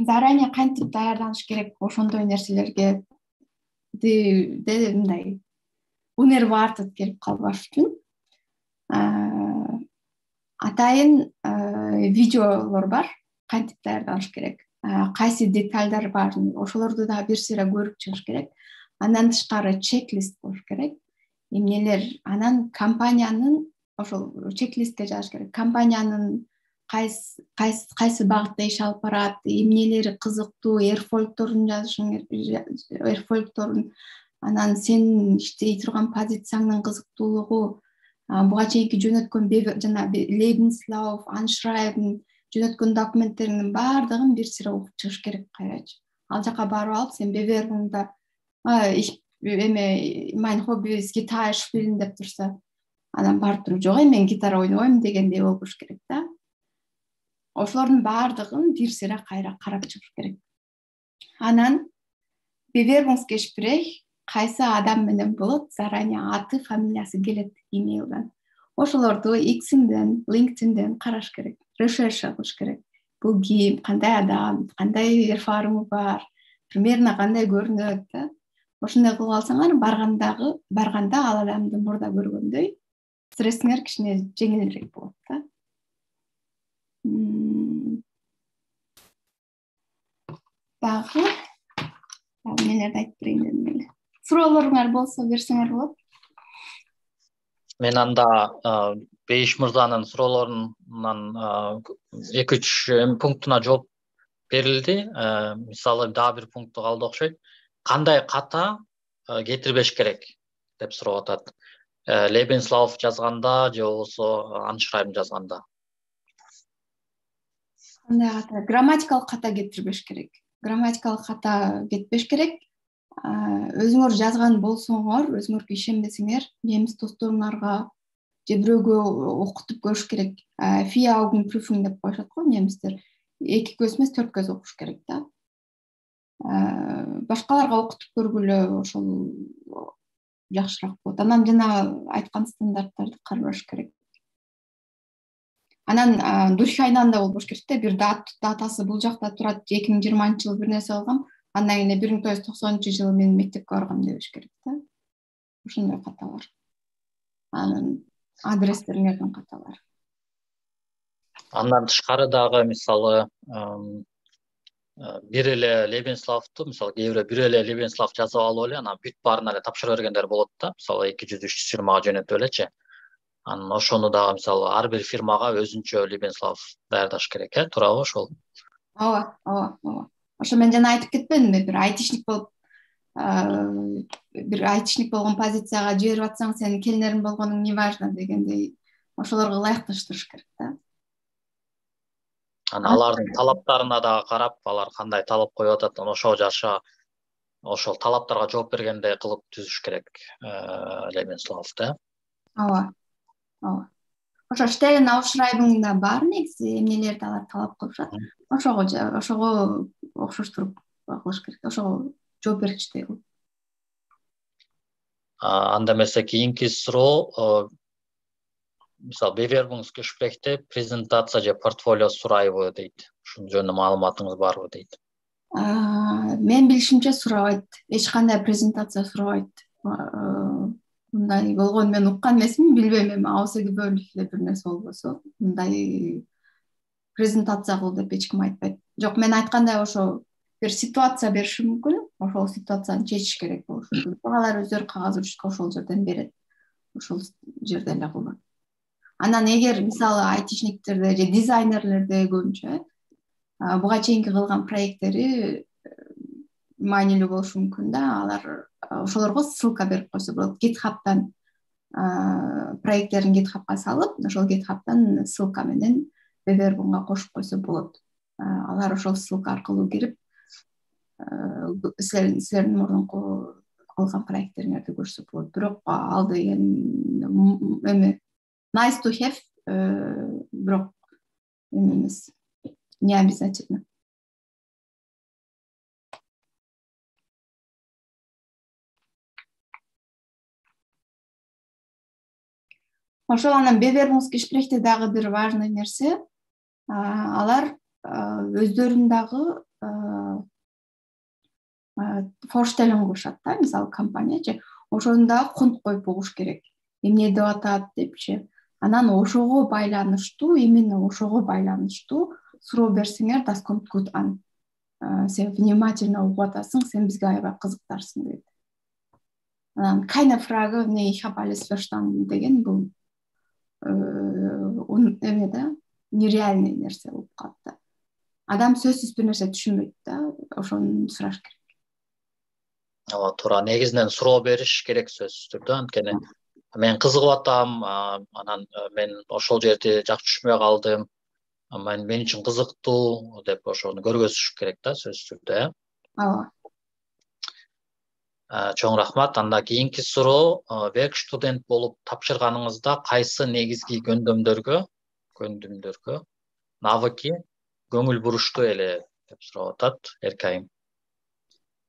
заранее кантип даярданыш керек ошондой нерселерге де мындай унервартып келип калбаш үчүн атайын видеолор бар, кантип даярданыш керек. Кайсы детальдар бар, ошолорду дагы бир сыйра көрүп чыгыш керек. Андан тышкары чек-лист болуш керек. Эмнелер, анан компаниянын ошол чек-листке жазыш керек. Компаниянын кайсы кайсы кайсы багытта иш алып барат, эмнелери кызыктуу, эрфольторун жазышың, эрфольторун, анан сен иштей турган позицияңдын кызыктуулугу, буга чейинки жөнөткөн жана Lebenslauf, Anschreiben, жөнөткөн документтериңдин баардыгын бир сыйра окуп чыгыш керек кайрачы. Ал жака барып алып, сен бевербуңда эме mein Hobby ist Gitarre spielen деп турса, анан барып туруп, жок, мен гитара ойнобойм дегендей болуш керек да. ошолордун баардыгын бир сыйра кайра карап чыгыш керек. Анан Bewerbungsgespräch кайсы адам менен болот, заранее аты, фамилиясы келет имейлден. Ошолорду X'инден, LinkedIndен караш керек, решерша кылыш керек. Бул ким, кандай адам, кандай эрфарымы бар, примерно кандай көрүнөт да. Ошондой кылып алсаңар, баргандагы, барганда ал адамды мурда көргөндөй стрессиңер кичине жеңилирээк болот да. Дагы Нелерди айтып берейин дедим эле. Суроолоруңар болсо берсеңер болот. Мен анда Бейиш мырзанын суроолорунан эки үч пунктуна жооп берилди. Мисалы дагы бир пункту калды окшойт. Кандай ката кетирбеш керек деп сурап атат. Lebenslauf жазганда же болбосо аншрайбын жазганда. Кандай ката? Грамматикалык ката кетирбеш керек. Грамматикалык ката кетпеш керек. Өзүңөр жазган болсоңор, өзүңөргө ишенбесеңер, немис досторуңарга же бирөөгө окутуп көрүш керек. Vier Augen Prüfung деп коюшат го немистер. Эки көз эмес, төрт көз окуш керек да. Башкаларга окутуп көргүлө, ошол жакшыраак болот. Анан жана айткан стандарттарды караш керек. Анан дурхайнанда болбош керек да, бир датасы бул жакта турат, эки миң жыйырманчы жылы бир нерсе алгам, андан кийин бир миң тогуз жүз токсонунчу жылы мен мектепке баргам дебеш керек да. Ошондой каталар. Анан адрестериңердин каталары. Андан тышкары дагы мисалы бир эле Lebenslauf'ту, мисалы кээ бирөө бир эле Lebenslauf жазып алып эле, анан бүт баарын эле тапшыра бергендер болот да. Мисалы эки жүз үч жүз фирмага жөнөтүп элечи. Анан ошону дагы мисалы ар бир фирмага өзүнчө Lebenslauf даярдаш керек, э, туурабы ошол? Ооба, ооба, ооба. Ошо мен жана айтып кетпедимби, бир айтишник болуп, бир айтишник болгон позицияга жиберип атсаң, сенин келинериң болгонуң не важно дегендей, ошолорго ылайыкташтырыш керек да. Анан алардын талаптарына дагы карап, алар кандай талап коюп атат, ошого жаша ошол талаптарга жооп бергендей кылып түзүш керек Lebenslauf да. Ооба. Ооба. Ошо Stellen Ausschreibung'да бар негизи эмнелерди алар талап кылышат. Ошого ошого окшоштуруп кылыш керек. Ошого жооп бергичтей кылып. Анда эмесе кийинки суроо, мисалы Bewerbungsgespräch'те презентация же портфолио сурайбы дейт. Ушун жөнүндө маалыматыңыз барбы дейт. Мен билишимче сурабайт. Эч кандай презентация сурабайт. Мындай болгон мен уккан эмесмин, билбейм, эми ауыз эги бөлүнүп эле бир нерсе болбосо, мындай презентация кыл деп эч ким айтпайт. Жок, мен айткандай ошо бир ситуация бериши мүмкүн, ошол ситуацияны чечиш керек болушу мүмкүн. Алар өздөрү кагаз урушка ошол жерден берет. Ошол жерде эле кылат. Анан эгер мисалы айтишниктерде же дизайнерлерде көбүнчө буга чейинки кылган проекттери маанилүү болушу мүмкүн да, алар ошолорго ссылка берип койсо болот. GitHub'дан проекттерин GitHub'га салып, ошол GitHub'дан ссылка менен Bewerbung'га кошуп койсо болот. Алар ошол ссылка аркылуу кирип, силердин мурунку кылган проекттериңерди көрсө болот. Бирок ал деген эме nice to have, бирок эме эмес, не обязательно. Ошол анан Bewerbungsgespräch'те дагы бир важный нерсе, алар өздөрүн дагы Vorstellung кылышат да, мисалы компания, ошону дагы конт коюп бугуш керек. Эмне деп атат депчи. Анан ошого байланыштуу, именно ошого байланыштуу суроо берсеңер, das kommt gut an. Сен внимательно угуп атасың, сен бизге аябай кызыктарсың дейт. Анан keine Frage, nee, ich habe alles verstanden деген бул эме да, нереальный нерсе болуп калат да. Адам сөзсүз бир нерсе түшүнбөйт да, ошону сураш керек. Ооба, туура, негизинен суроо бериш керек сөзсүз түрдө, анткени мен кызыгып атам, анан мен ошол жерди жакшы түшүнбөй калдым, мен мен үчүн кызыктуу деп ошону көргөзүш керек да сөзсүз түрдө. Ооба. Чоң рахмат. Анда кийинки суроо, werkstudent болуп тапшырганыңызда кайсы негизги көндүмдөргө, көндүмдөргө навыки көңүл буруштуу эле деп сурап атат Эркайым.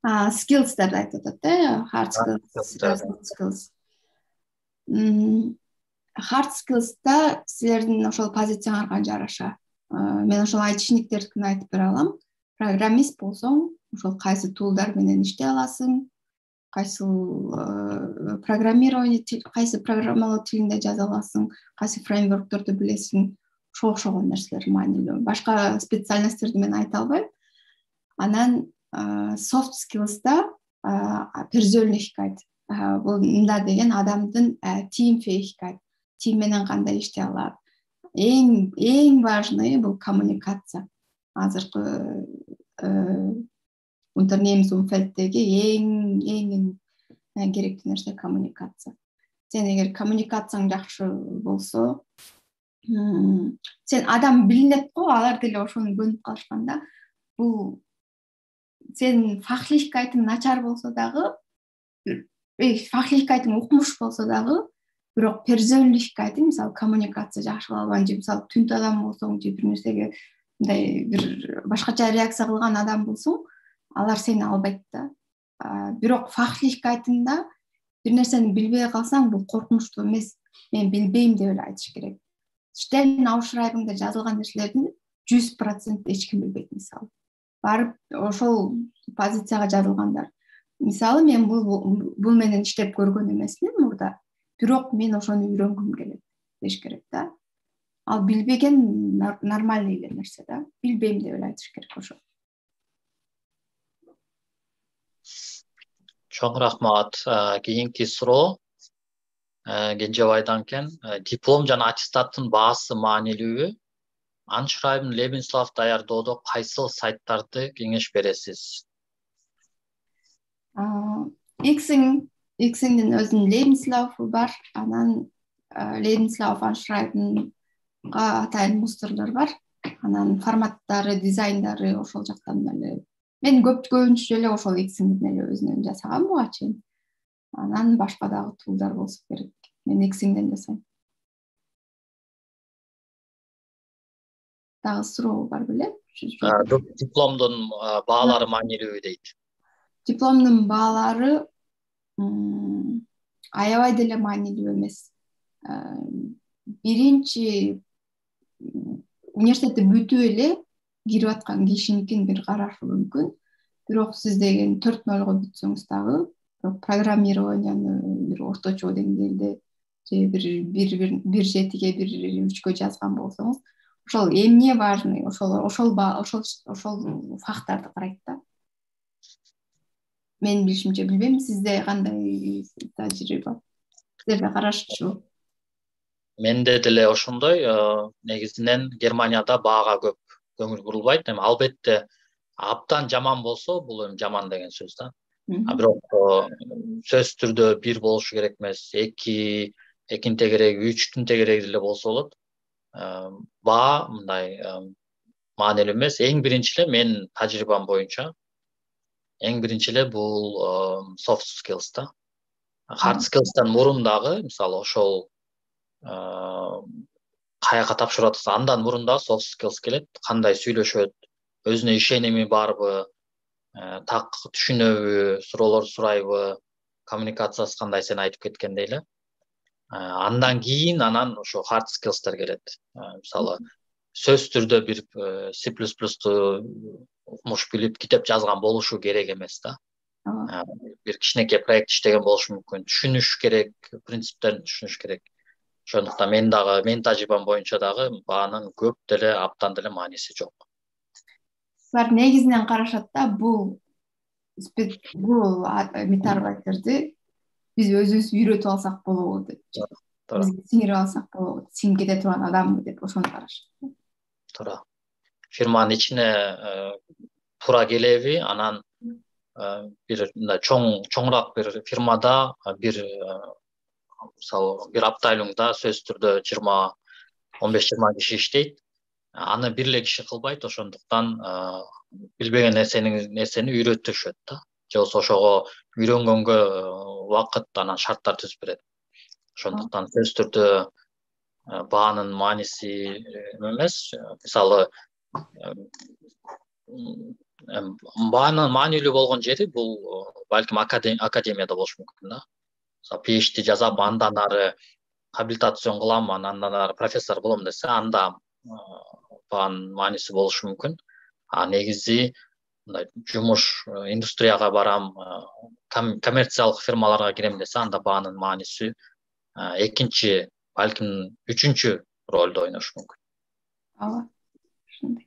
Skills'терди айтып атат да, hard skills, soft skills. Hard skills'та силердин ошол позицияңарга жараша. Мен ошол айтышниктердикин айтып бере алам. Программист болсоң, ошол кайсы тулдар менен иштей аласың, кайсы программирование, кайсы программалоо тилинде жаза аласың, кайсы фреймворкторду билесиң, ошо окшогон нерселер маанилүү. Башка специальностьтерди мен айта албайм. Анан soft skills'та persönlichkeit, бул мында деген адамдын teamfähigkeit, тим менен кандай иштей алат. Эң эң важный бул коммуникация. Азыркы unternehmensumfeldдеги эң эң керектүү нерсе коммуникация. Сен эгер коммуникацияң жакшы болсо, сен адам билинет го, алар деле ошону көнүп калышканда, бул сен фахлихкайтың начар болсо дагы, фахлихкайтың укмуш болсо дагы, бирок persönlichkайтың, мисалы коммуникация жакшы кыла албаган же мисалы түнт адам болсоң, же бир нерсеге мындай бир башкача реакция кылган адам болсоң, алар сени албайт да. Бирок фахлихкайтыңда бир нерсени билбей калсаң, бул коркунучтуу эмес. Мен билбейм деп эле айтыш керек. Stellenausschreibungда жазылган нерселердин жүз процент эч ким билбейт, мисалы. Барып ошол позицияга жазылгандар. Мисалы мен бул бул менен иштеп көргөн эмесмин мурда, бирок мен ошону үйрөнгүм келет деш керек да. Ал билбеген нормальный эле нерсе да. Билбейм деп эле айтыш керек ошо. Чоң рахмат. Кийинки суроо Кенжебайдан экен. Диплом жана аттестаттын баасы маанилүүбү? Anschreiben, Lebenslauf даярдоодо кайсыл сайттарды кеңеш бересиз? Xing, Xingдин өзүнүн Lebenslauf'у бар, анан Lebenslauf Anschreibenга атайын мустерлер бар. Анан форматтары, дизайндары ошол жактан эле. Мен көп көбүнчө эле ошол Xingдин эле өзүнөн жасагам буга чейин. Анан башка дагы тулдар болсо керек. Мен Xingден жасайм. Дагы суроо бар беле? Дипломдун баалары маанилүүбү дейт. Дипломдун баалары аябай деле маанилүү эмес. Биринчи университетти бүтүп эле кирип аткан кишиникин бир карашы мүмкүн. Бирок сиз деген төрт нолго бүтсөңүз дагы, программированияны бир орточо деңгээлде же бир бир бир жетиге бир үчкө жазган болсоңуз, ошол эмне важный, ошол ошол ошол ошол фактарды карайт да. Мен билишимче, билбейм, сизде кандай тажрыйба? Силерде карашчу? Менде деле ошондой, негизинен Германияда баага көп көңүл бурулбайт. Эми албетте абдан жаман болсо, бул эми жаман деген сөз да. А бирок сөзсүз түрдө бир болушу керек эмес, эки, экинин тегереги, үчтүн тегереги деле болсо болот. Баа мындай маанилүү эмес. Эң биринчи эле мен тажрыйбам боюнча эң биринчи эле бул soft skills да. Hard skills'тан мурун дагы, мисалы ошол каяка тапшырып атса, андан мурун дагы soft skills келет. Кандай сүйлөшөт, өзүнө ишеними барбы, так түшүнөбү, суроолор сурайбы, коммуникациясы кандай сен айтып кеткендей эле. Андан кийин анан ошо hard skills'тер келет. Мисалы, сөзсүз түрдө бир C plus plus'ту укмуш билип, китеп жазган болушу керек эмес да. Бир кичинекей проект иштеген болушу мүмкүн. Түшүнүш керек, принциптерин түшүнүш керек. Ошондуктан мен дагы, менин тажрыйбам боюнча дагы баанын көп деле, абдан деле мааниси жок. Булар негизинен карашат да, бул бул метарбайтерди биз өзүбүз үйрөтүп алсак болобу деп. Бизге сиңирип алсак болобу, сиңип кете турган адамбы деп ошону карашат. Туура. Фирманын ичине туура келеби, анан бир мындай чоң чоңураак бир фирмада бир мисалы бир аптайлыңда сөзсүз түрдө жыйырма он беш жыйырма киши иштейт. Аны бир эле киши кылбайт, ошондуктан билбеген нерсени нерсени үйрөтүшөт да. Же болбосо ошого үйрөнгөнгө убакыт, анан шарттар түзүп берет. Ошондуктан сөзсүз түрдө баанын мааниси эмес. Мисалы баанын маанилүү болгон жери бул балким академияда болушу мүмкүн да. PhD жазап, андан ары хабилитацион кылам, андан ары профессор болом десе, анда баанын мааниси болушу мүмкүн. А негизи мындай жумуш индустрияга барам, коммерциялык фирмаларга кирем десе, анда баанын мааниси экинчи, балким үчүнчү ролду ойношу мүмкүн. Ооба, ошондой.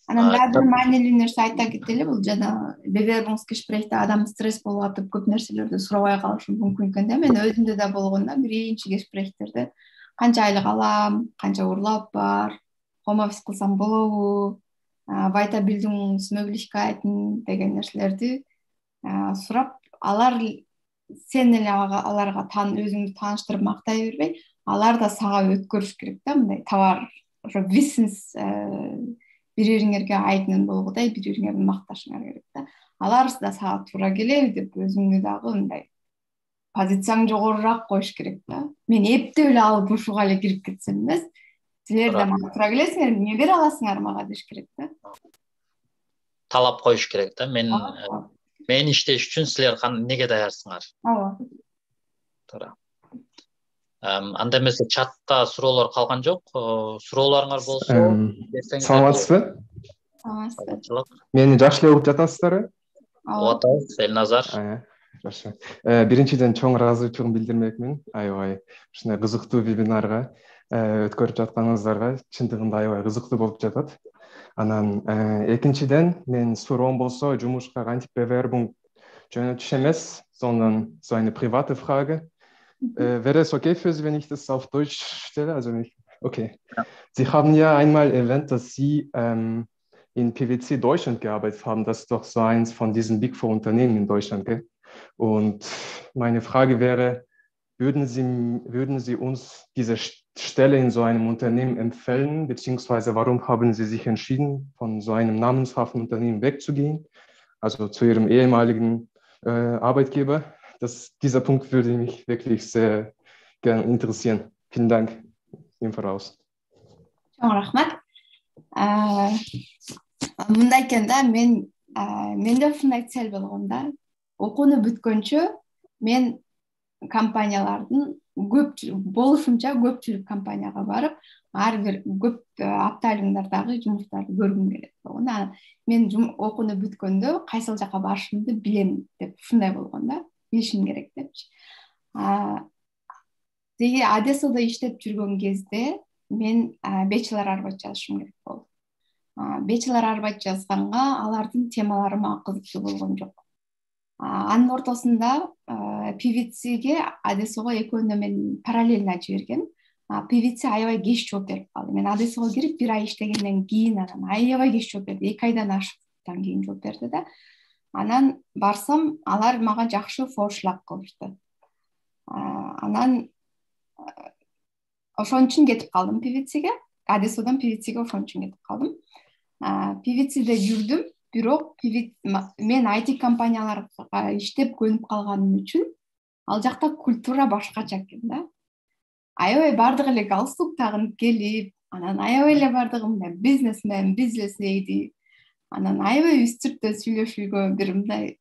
Анан дагы бир маанилүү нерсе айта кетели, бул жана Bewerbungsgesprächте адам стресс болуп атып көп нерселерди сурабай калышы мүмкүн экен да. Мен өзүмдө да болгон да, биринчи гesprächтерде канча айлык алам, канча урлап бар, home office кылсам болобу, weiterbildungsmöglichkeiten деген нерселерди сурап, алар сен эле аларга тан өзүңдү тааныштырып мактай бербей, алар да сага өткөрүш керек да, мындай товар, ошо бизнес бири-бириңерге айтын болгодай, бири-бириңерди макташыңар керек да. Алар да сага туура келеби деп өзүңдү дагы мындай позицияң жогорураак коюш керек да. Мен эптеп эле алып ушуга эле кирип кетсем эмес, силер да мага туура келесиңер, эмне бере аласыңар мага деш керек да. Талап коюш керек да. Мен мен иштеш үчүн силер неге даярсыңар? Ооба. Туура. Анда эмесе чатта суроолор калган жок. Суроолоруңар болсо, берсеңиз. Саламатсызбы? Саламатсызбы. Мени жакшы эле угуп жатасыздарбы? Угуп атабыз, Элназар. Жакшы. Биринчиден чоң ыраазычылыгымды билдирмекмин. Аябай ушундай кызыктуу вебинарга өткөрүп жатканыңыздарга чындыгында аябай кызыктуу болуп жатат. Анан экинчиден мен суроом болсо, жумушка кантип Bewerbung жөнөтүш эмес, sondern so eine private Frage. Wäre es okay für Sie, wenn ich das auf Deutsch stelle? Also nicht. Okay. Sie haben ja einmal erwähnt, dass Sie ähm, in P W C Deutschland gearbeitet haben. Das ist doch so eins von diesen Big Four Unternehmen in Deutschland, gell? Und meine Frage wäre, würden Sie, würden Sie uns diese Stelle in so einem Unternehmen empfehlen, beziehungsweise warum haben Sie sich entschieden, von so einem namenshaften Unternehmen wegzugehen, also zu Ihrem ehemaligen äh, Arbeitgeber? Das, dieser Punkt würde mich wirklich sehr gerne interessieren. Vielen Dank im Voraus. Чоң рахмат. Мындай экен да, мен менде ушундай цель болгон да. Окууну бүткөнчө мен компаниялардын көп болушунча көпчүлүк компанияга барып, ар бир көп апталыңдардагы жумуштарды көргүм келет болгон. Мен окууну бүткөндө кайсыл жака барышымды билем деп ушундай болгон да. Билишим керек депчи. Деги Одессада иштеп жүргөн кезде мен bachelor арбат жазышым керек болду. Bachelor арбат жазганга алардын темалары мага кызыктуу болгон жок. Анын ортосунда P V C-ге Одессага экөөнө мен параллельно жибергем. P V C аябай кеч жооп берип калды. Мен Одессага кирип бир ай иштегенден кийин анан аябай кеч жооп берди. эки айдан ашыктан кийин жооп берди да. Анан барсам, алар мага жакшы форшлаг кылышты. Анан ошон үчүн кетип калдым P V C-ге. Одессадан P V C-ге ошон үчүн кетип калдым. P V C-де жүрдүм, бирок мен I T компанияларга иштеп көнүп калганым үчүн ал жакта культура башкача экен да. Аябай бардыгы эле галстук тагынып келип, анан аябай эле бардыгы мындай бизнесмен, бизнес леди. Анан аябай үстүртө сүйлөшүүгө бир мындай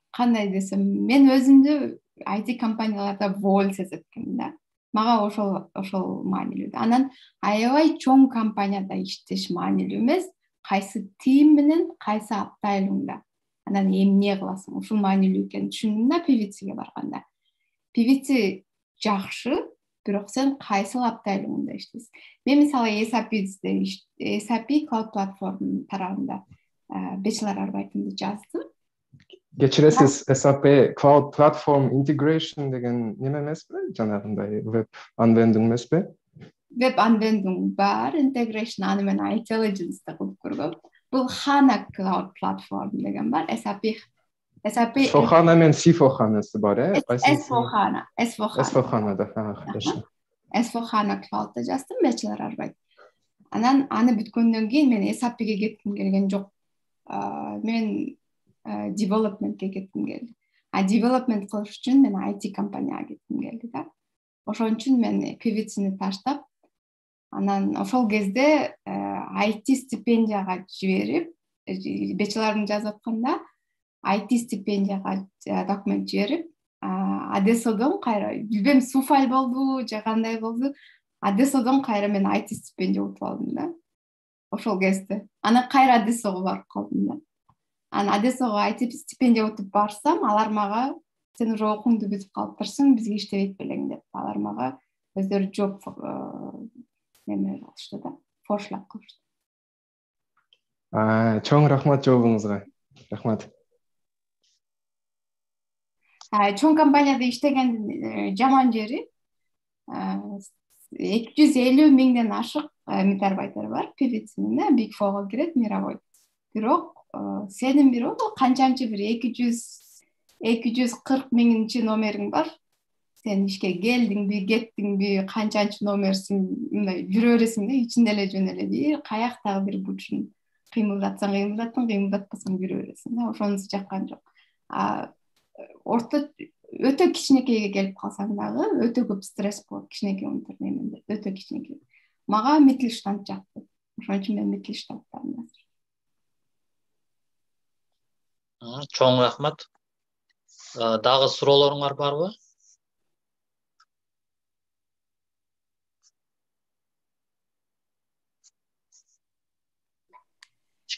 кандай десем, мен өзүмдү I T компанияларда воль сезет экенмин да. Мага ошол ошол маанилүү. Анан аябай чоң компанияда иштеш маанилүү эмес, кайсы тим менен, кайсы аптайлыңда. Анан эмне кыласың? Ушул маанилүү экенин түшүндүм да P V C-ге барганда. P V C жакшы, бирок сен кайсыл аптайлыңда иштейсиң? Мен мисалы S A P-де S A P Cloud Platform тарабында bachelor арбайтымды жаздым. Кечиресиз, S A P Cloud Platform Integration деген неме эмеспи? Жанагындай веб анвендинг эмеспи? Веб анвендинг бар, integration аны мен intelligence да кылып көргөм. Бул HANA Cloud Platform деген бар. S A P S A P S four HANA мен C four HANA-сы бар, э? S four HANA, S four HANA. S four HANA да, хорошо. S four HANA Cloud-да жаздым, bachelor арбайт. Анан аны бүткөндөн кийин мен S A P-ге кетким келген жок. Мен development-ке кетким келди. А development кылыш үчүн мен I T компанияга кетким келди да. Ошон үчүн мен P V C-ни таштап, анан ошол кезде ай ти стипендияга жиберип, бечелорун жазып атканда ай ти стипендияга документ жиберип, Одессадон кайра, билбейм, суфаль болду же кандай болду, Одессадон кайра мен ай ти стипендия утуп алдым да. Ошол кезде. Анан кайра Одессага барып калдым да. Анан Одессага ай ти стипендия утуп барсам, алар мага сен уже окууңду бүтүп калыптырсың, бизге иштебейт белең деп, алар мага өздөрү жоп неме кылышты да, форшлап кылышты. Чоң рахмат жообуңузга. Рахмат. Чоң компанияда иштегендин жаман жери эки жүз элүү миңден ашык метарбайтер бар, певицинин, Big Four'га кирет, мировой. Бирок сенин бирок канчанчы бир эки жүз кырк миңинчи номериң бар. Сен ишке келдиңби, кеттиңби, канчанчы номерсиң, мындай жүрө бересиң да, ичинде эле жөн эле бир каяктагы бир бучун кыймылдатсаң, кыймылдаттың, кыймылдатпасаң жүрө бересиң да, ошонусу жаккан жок. Орто өтө кичинекейге келип калсаң дагы өтө көп стресс болот, кичинекей унтер неменде, өтө кичинекей. Мага Mittelstand жакты. Ошон үчүн мен Mittelstandтамын. Чоң рахмат. Дагы суроолоруңар барбы?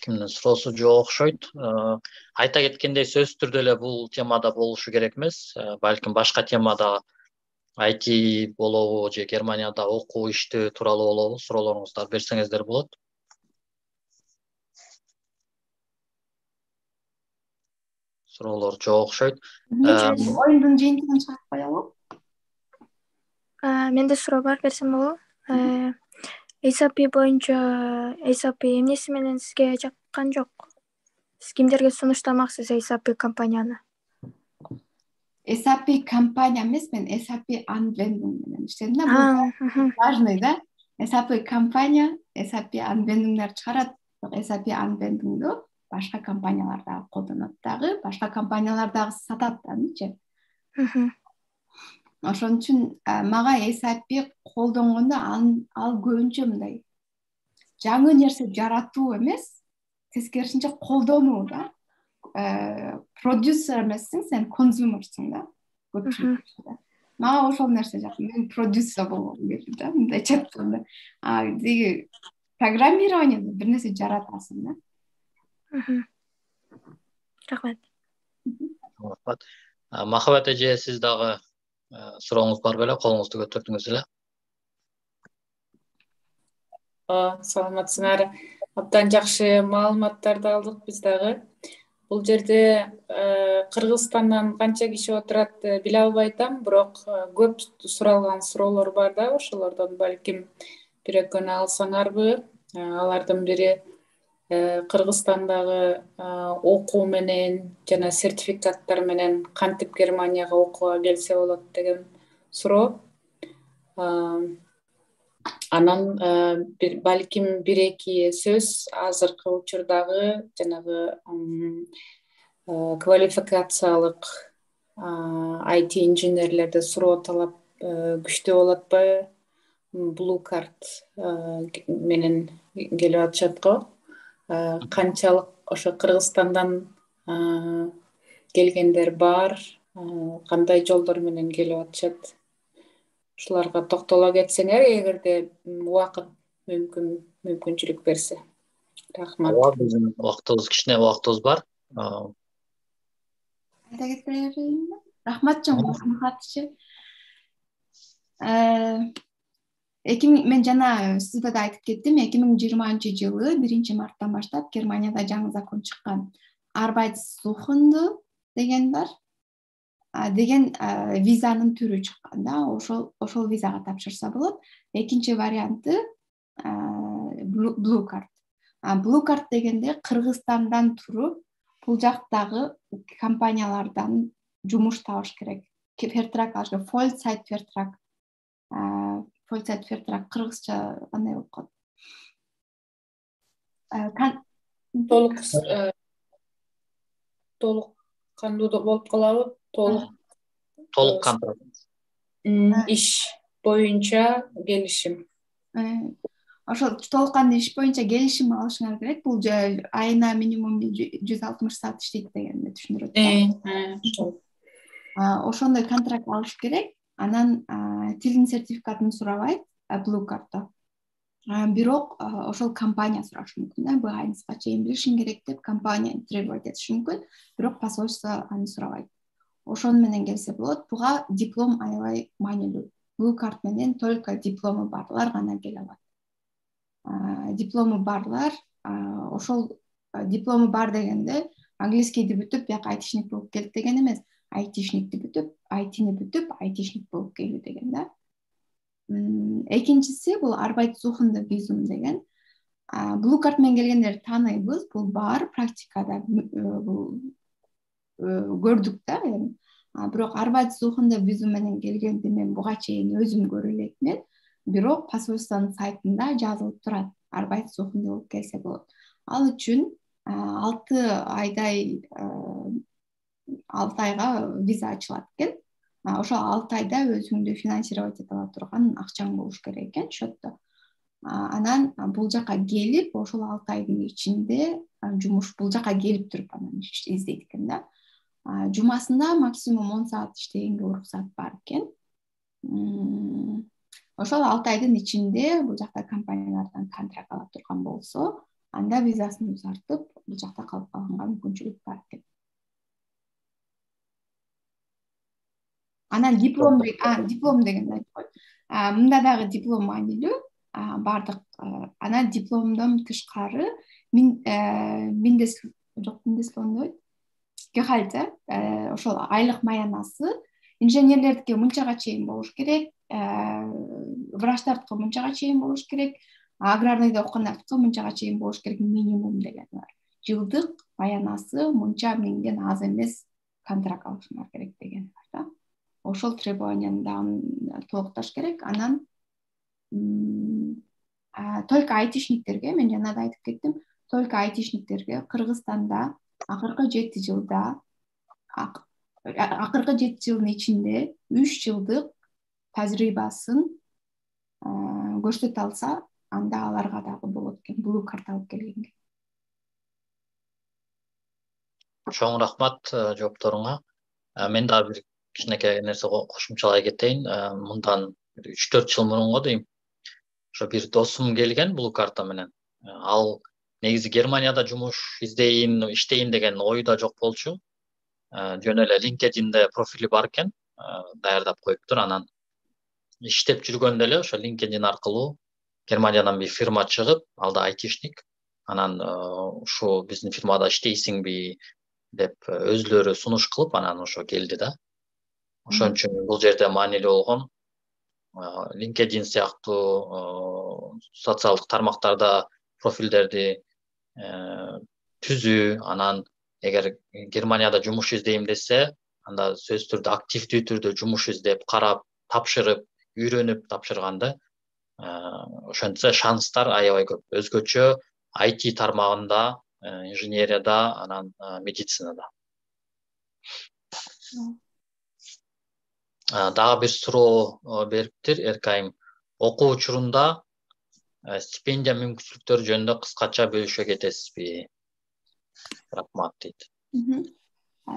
Кимдин суроосу жок окшойт. Айта кеткендей, сөзсүз түрдө эле бул темада болушу керек эмес. Балким башка темада ай ти болобу же Германияда окуу иштөө тууралуу болобу, суроолоруңузду берсеңиздер болот. Суроолор жок окшойт. Оюндун жыйынтыгын чыгарып коелу. Менде суроо бар, берсем болобу? эй эс эй пи боюнча эй эс эй пи эмнеси менен сизге жаккан жок? Сиз кимдерге сунуштамаксыз эй эс эй пи компанияны? эй эс эй пи компания эмес, мен эй эс эй пи Anwendung менен иштедим да. Бул важный да. эй эс эй пи компания, эй эс эй пи Anwendung'дар чыгарат. эй эс эй пи Anwendung'ду башка компаниялар дагы колдонот дагы, башка компаниялар дагы сатат дагычы. Ошон үчүн мага эй эс эй пи колдонгондо ал көбүнчө мындай жаңы нерсе жаратуу эмес, тескерисинче колдонуу да. Продюсер эмессиң, сен консюмерсиң да. Мага ошол нерсе жакын. Мен продюсер болгум келди да, мындай чатканда. А деги программированиеде бир нерсе жаратасың да. Рахмат. Рахмат. Махабат эже, сиз дагы сурооңуз бар беле? Колуңузду көтөрдүңүз эле. Саламатсыңар. Абдан жакшы маалыматтарды алдык биз дагы. Бул жерде Кыргызстандан канча киши отурат биле албай атам, бирок көп суралган суроолор бар да, ошолордон балким бир экөөнү алсаңарбы? Алардын бири Кыргызстандагы окуу менен жана сертификаттар менен кантип Германияга окууга келсе болот деген суроо. Анан балким бир эки сөз азыркы учурдагы жанагы квалификациялык ай ти инженерлерде суроо талап күчтүү болуп атпайбы? Blue Card менен келип атышат го. Канчалык ошо Кыргызстандан келгендер бар, кандай жолдор менен келип атышат? Ушуларга токтоло кетсеңер, эгерде убакыт мүмкүн мүмкүнчүлүк берсе. Рахмат. Ооба, биздин убактыбыз, кичине убактыбыз бар. Айта кетейинби? Рахмат чоң катчы. Мен жана сизге да айтып кеттим, эки миң жыйырманчы жылы биринчи марттан баштап Германияда жаңы закон чыккан. Arbeitssuchende деген бар. Деген визанын түрү чыккан да, ошол ошол визага тапшырса болот. Экинчи варианты Blue Card. Blue Card дегенде Кыргызстандан туруп, бул жактагы компаниялардан жумуш табыш керек. Vertrag алыш, Vollzeit Vertrag. Vollzeit Vertrag кыргызча кандай болуп калат? Толук толук кандуу болуп калабы? Толук толук контракт. Иш боюнча келишим. ошол толук кандуу иш боюнча келишим алышыңар керек. Бул айына минимум жүз алтымыш саат иштейт дегенди түшүндүрөт да. Ошондой контракт алыш керек. Анан тилдин сертификатын сурабайт Blue Card'да. Бирок ошол компания сурашы мүмкүн да. Б айнска чейин билишиң керек деп компания требовать этиши мүмкүн. Бирок посольство аны сурабайт. Ошону менен келсе болот. Буга диплом аябай маанилүү. Blue Card менен только диплому барлар гана келе алат. Диплому барлар, ошол диплому бар дегенде английскийди бүтүп, бияка айтишник болуп келет деген эмес. Айтишникти бүтүп, айтини бүтүп, айтишник болуп келүү деген да. Экинчиси бул Arbeitssuchende Visum деген. Blue Card менен келгендерди тааныйбыз. Бул бар практикада бул көрдүк да. Бирок Arbeitssuchende Visum менен келгенди мен буга чейин өзүм көрө элекмин. Бирок посольствонун сайтында жазылып турат. Arbeitssuchende болуп келсе болот. Ал үчүн алты айдай алты айга виза ачылат экен. Ошол алты айда өзүңдү финансировать эте ала турган акчаң болуш керек экен счетто. Анан бул жака келип, ошол алты айдын ичинде жумуш бул жака келип туруп анан издейт экен да. Жумасында максимум он саат иштегенге уруксат бар экен. Ошол алты айдын ичинде бул жакта компаниялардан контракт ала турган болсо, анда визасын узартып, бул жакта калып калганга мүмкүнчүлүк бар экен. Анан диплом, диплом деген айтып кой. Мында дагы диплом маанилүү. Бардык анан дипломдон тышкары мен мендес жок мендеслоон Гехальте, ошол айлык маянасы инженерлердики мынчага чейин болуш керек, врачтардыкы мынчага чейин болуш керек, аграрныйда окугандардыкы мынчага чейин болуш керек минимум деген бар. Жылдык маянасы мынча миңден аз эмес контракт алышыңар керек деген бар да. Ошол требованияны дагы толукташ керек. Анан только айтишниктерге, мен жана да айтып кеттим, только айтишниктерге Кыргызстанда акыркы жети жылда акыркы жети жылдын ичинде үч жылдык тажрыйбасын көрсөтө алса, анда аларга дагы болот экен, Blue Card алып келгенге. Чоң рахмат жоопторуңа. Мен дагы бир кичинекей нерсе кошумчалай кетейин. Мындан үч төрт жыл мурунго дейм, ошо бир досум келген Blue Card менен. Ал негизи Германияда жумуш издейин, иштейин деген ойда жок болчу. Жөн эле LinkedIn'де профили бар экен, даярдап коюптур. Анан иштеп жүргөндө эле ошо LinkedIn аркылуу Германиядан бир фирма чыгып, ал да айтишник. Анан ушу биздин фирмада иштейсиңби деп өзүлөрү сунуш кылып, анан ошо келди да. Ошон үчүн бул жерде маанилүү болгон LinkedIn сыяктуу социалдык тармактарда профилдерди түзүү, анан эгер Германияда жумуш издейм десе, анда сөзсүз түрдө активдүү түрдө жумуш издеп, карап, тапшырып, үйрөнүп тапшырганды. Ошентсе шанстар аябай көп. Өзгөчө ай ти тармагында, инженерияда, анан медицинада. Дагы бир суроо бериптир Эркайым. Окуу учурунда стипендия мүмкүнчүлүктөрү жөнүндө кыскача бөлүшө кетесизби? Рахмат дейт.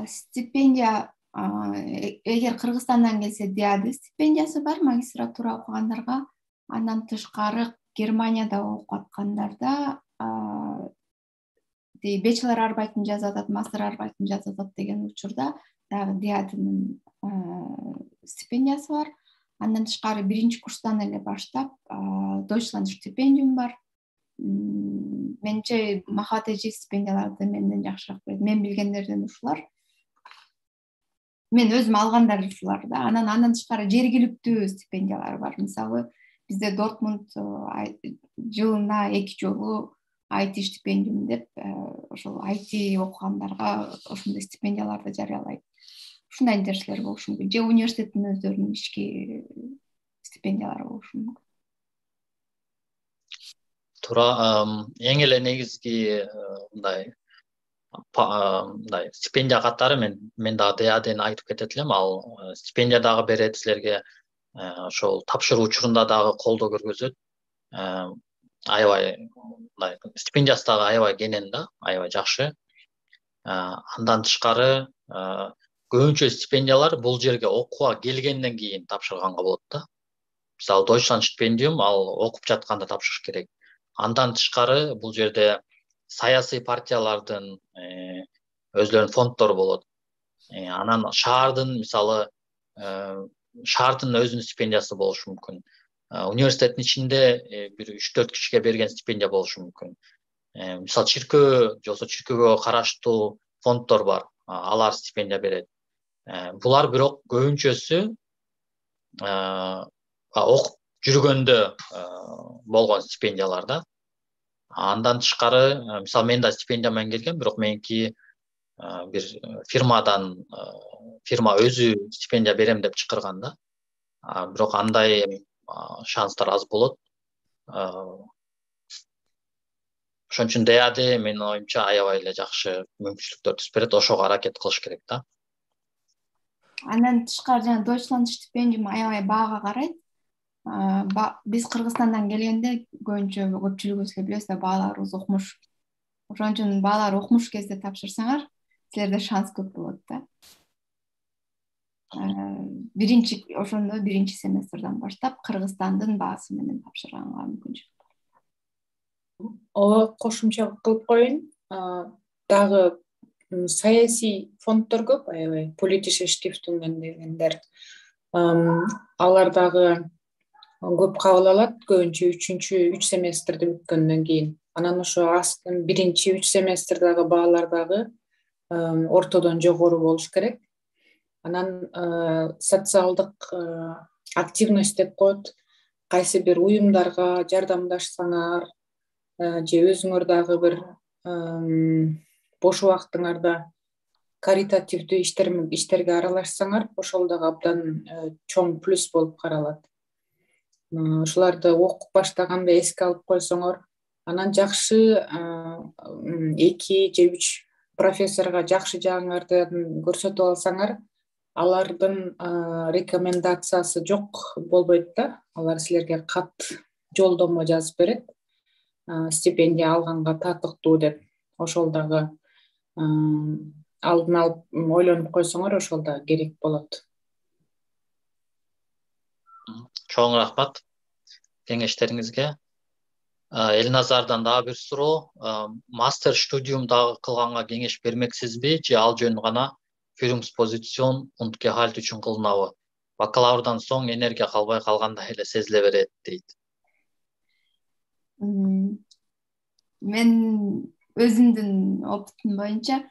Стипендия, эгер Кыргызстандан келсе, диады стипендиясы бар магистратура окугандарга. Андан тышкары Германияда окуп аткандарда бachelor арбайтын жазып атат, мастер арбайтын жазып атат деген учурда дагы диадынын стипендиясы бар. Андан тышкары биринчи курстан эле баштап Deutschland стипендиум бар. Менче Махат эжи стипендияларды менден жакшыраак билет. Мен билгендерден ушулар. Мен өзүм алгандар ушулар да. Анан андан тышкары жергиликтүү стипендиялар бар. Мисалы, бизде Дортмунд жылына эки жолу ай ти стипендиум деп, ошол ай ти окугандарга ошондой стипендияларды жарыялайт. Ушундай нерселер болушу мүмкүн. Же университеттин өздөрүнүн ички стипендиялары болушу мүмкүн. Туура, эң эле негизги мындай мындай стипендия катары мен мен дагы диадени айтып кетет элем. Ал стипендия дагы берет силерге, ошол тапшыруу учурунда дагы колдоо көргөзөт. аябай мындай стипендиясы дагы аябай кенен да, аябай жакшы. Андан тышкары көбүнчө стипендиялар бул жерге окууга келгенден кийин тапшырганга болот да. Мисалы Deutschland стипендиум ал окуп жатканда тапшырыш керек. Андан тышкары бул жерде саясий партиялардын өзлөрүнүн фонддору болот. Анан шаардын мисалы шаардын өзүнүн стипендиясы болушу мүмкүн. Университеттин ичинде бир үч төрт кишиге берген стипендия болушу мүмкүн. Мисалы чиркөө же болбосо чиркөөгө караштуу фонддор бар, алар стипендия берет. Булар бирок көбүнчөсү окуп жүргөндө болгон стипендиялар да. Андан тышкары мисалы мен да стипендия менен келгем, бирок меники бир фирмадан фирма өзү стипендия берем деп чакырган да. Бирок андай шанстар аз болот. Ошон үчүн ди а ди менин оюмча аябай эле жакшы мүмкүнчүлүктөр түзүп берет, ошого аракет кылыш керек да. Андан тышкары жана Deutschland стипендиум аябай баага карайт. Биз Кыргызстандан келгенде көбүнчө көпчүлүгүбүз эле билебиз да, бааларыбыз окумуш. Ошон үчүн баалар окумуш кезде тапшырсаңар, силерде шанс көп болот да. Биринчи ошондо биринчи семестрден баштап Кыргызстандын баасы менен тапшырганга мүмкүнчүлүк бар. Ооба, кошумча кылып коеюн. Дагы саясий фонддор көп, аябай politische Stiftungen дегендер. Алар дагы көп кабыл алат, көбүнчө үчүнчү үч семестрди бүткөндөн кийин. Анан ошо астын биринчи үч семестрдагы баалар дагы ортодон жогору болуш керек. Анан социалдык активность деп коет. Кайсы бир уюмдарга жардамдашсаңар же өзүңөр дагы бир бош убактыңарда каритативдүү иштерге аралашсаңар, ошол дагы абдан чоң плюс болуп каралат. Ушуларды окуп баштаганда эске алып койсоңор, анан жакшы эки же үч профессорго жакшы жагыңардан көрсөтүп алсаңар, алардын рекомендациясы жок болбойт да. Алар силерге кат жолдомо жазып берет, стипендия алганга татыктуу деп. Ошол дагы алдын алып ойлонуп койсоңор, ошол да керек болот. Чоң рахмат кеңештериңизге. Элназардан дагы бир суроо. Мастер студиум дагы кылганга кеңеш бермексизби же ал жөн гана Führungsposition und Gehalt үчүн кылынабы? Бакалаврдан соң энергия калбай калгандай эле сезиле берет дейт. Мен өзүмдүн опытым боюнча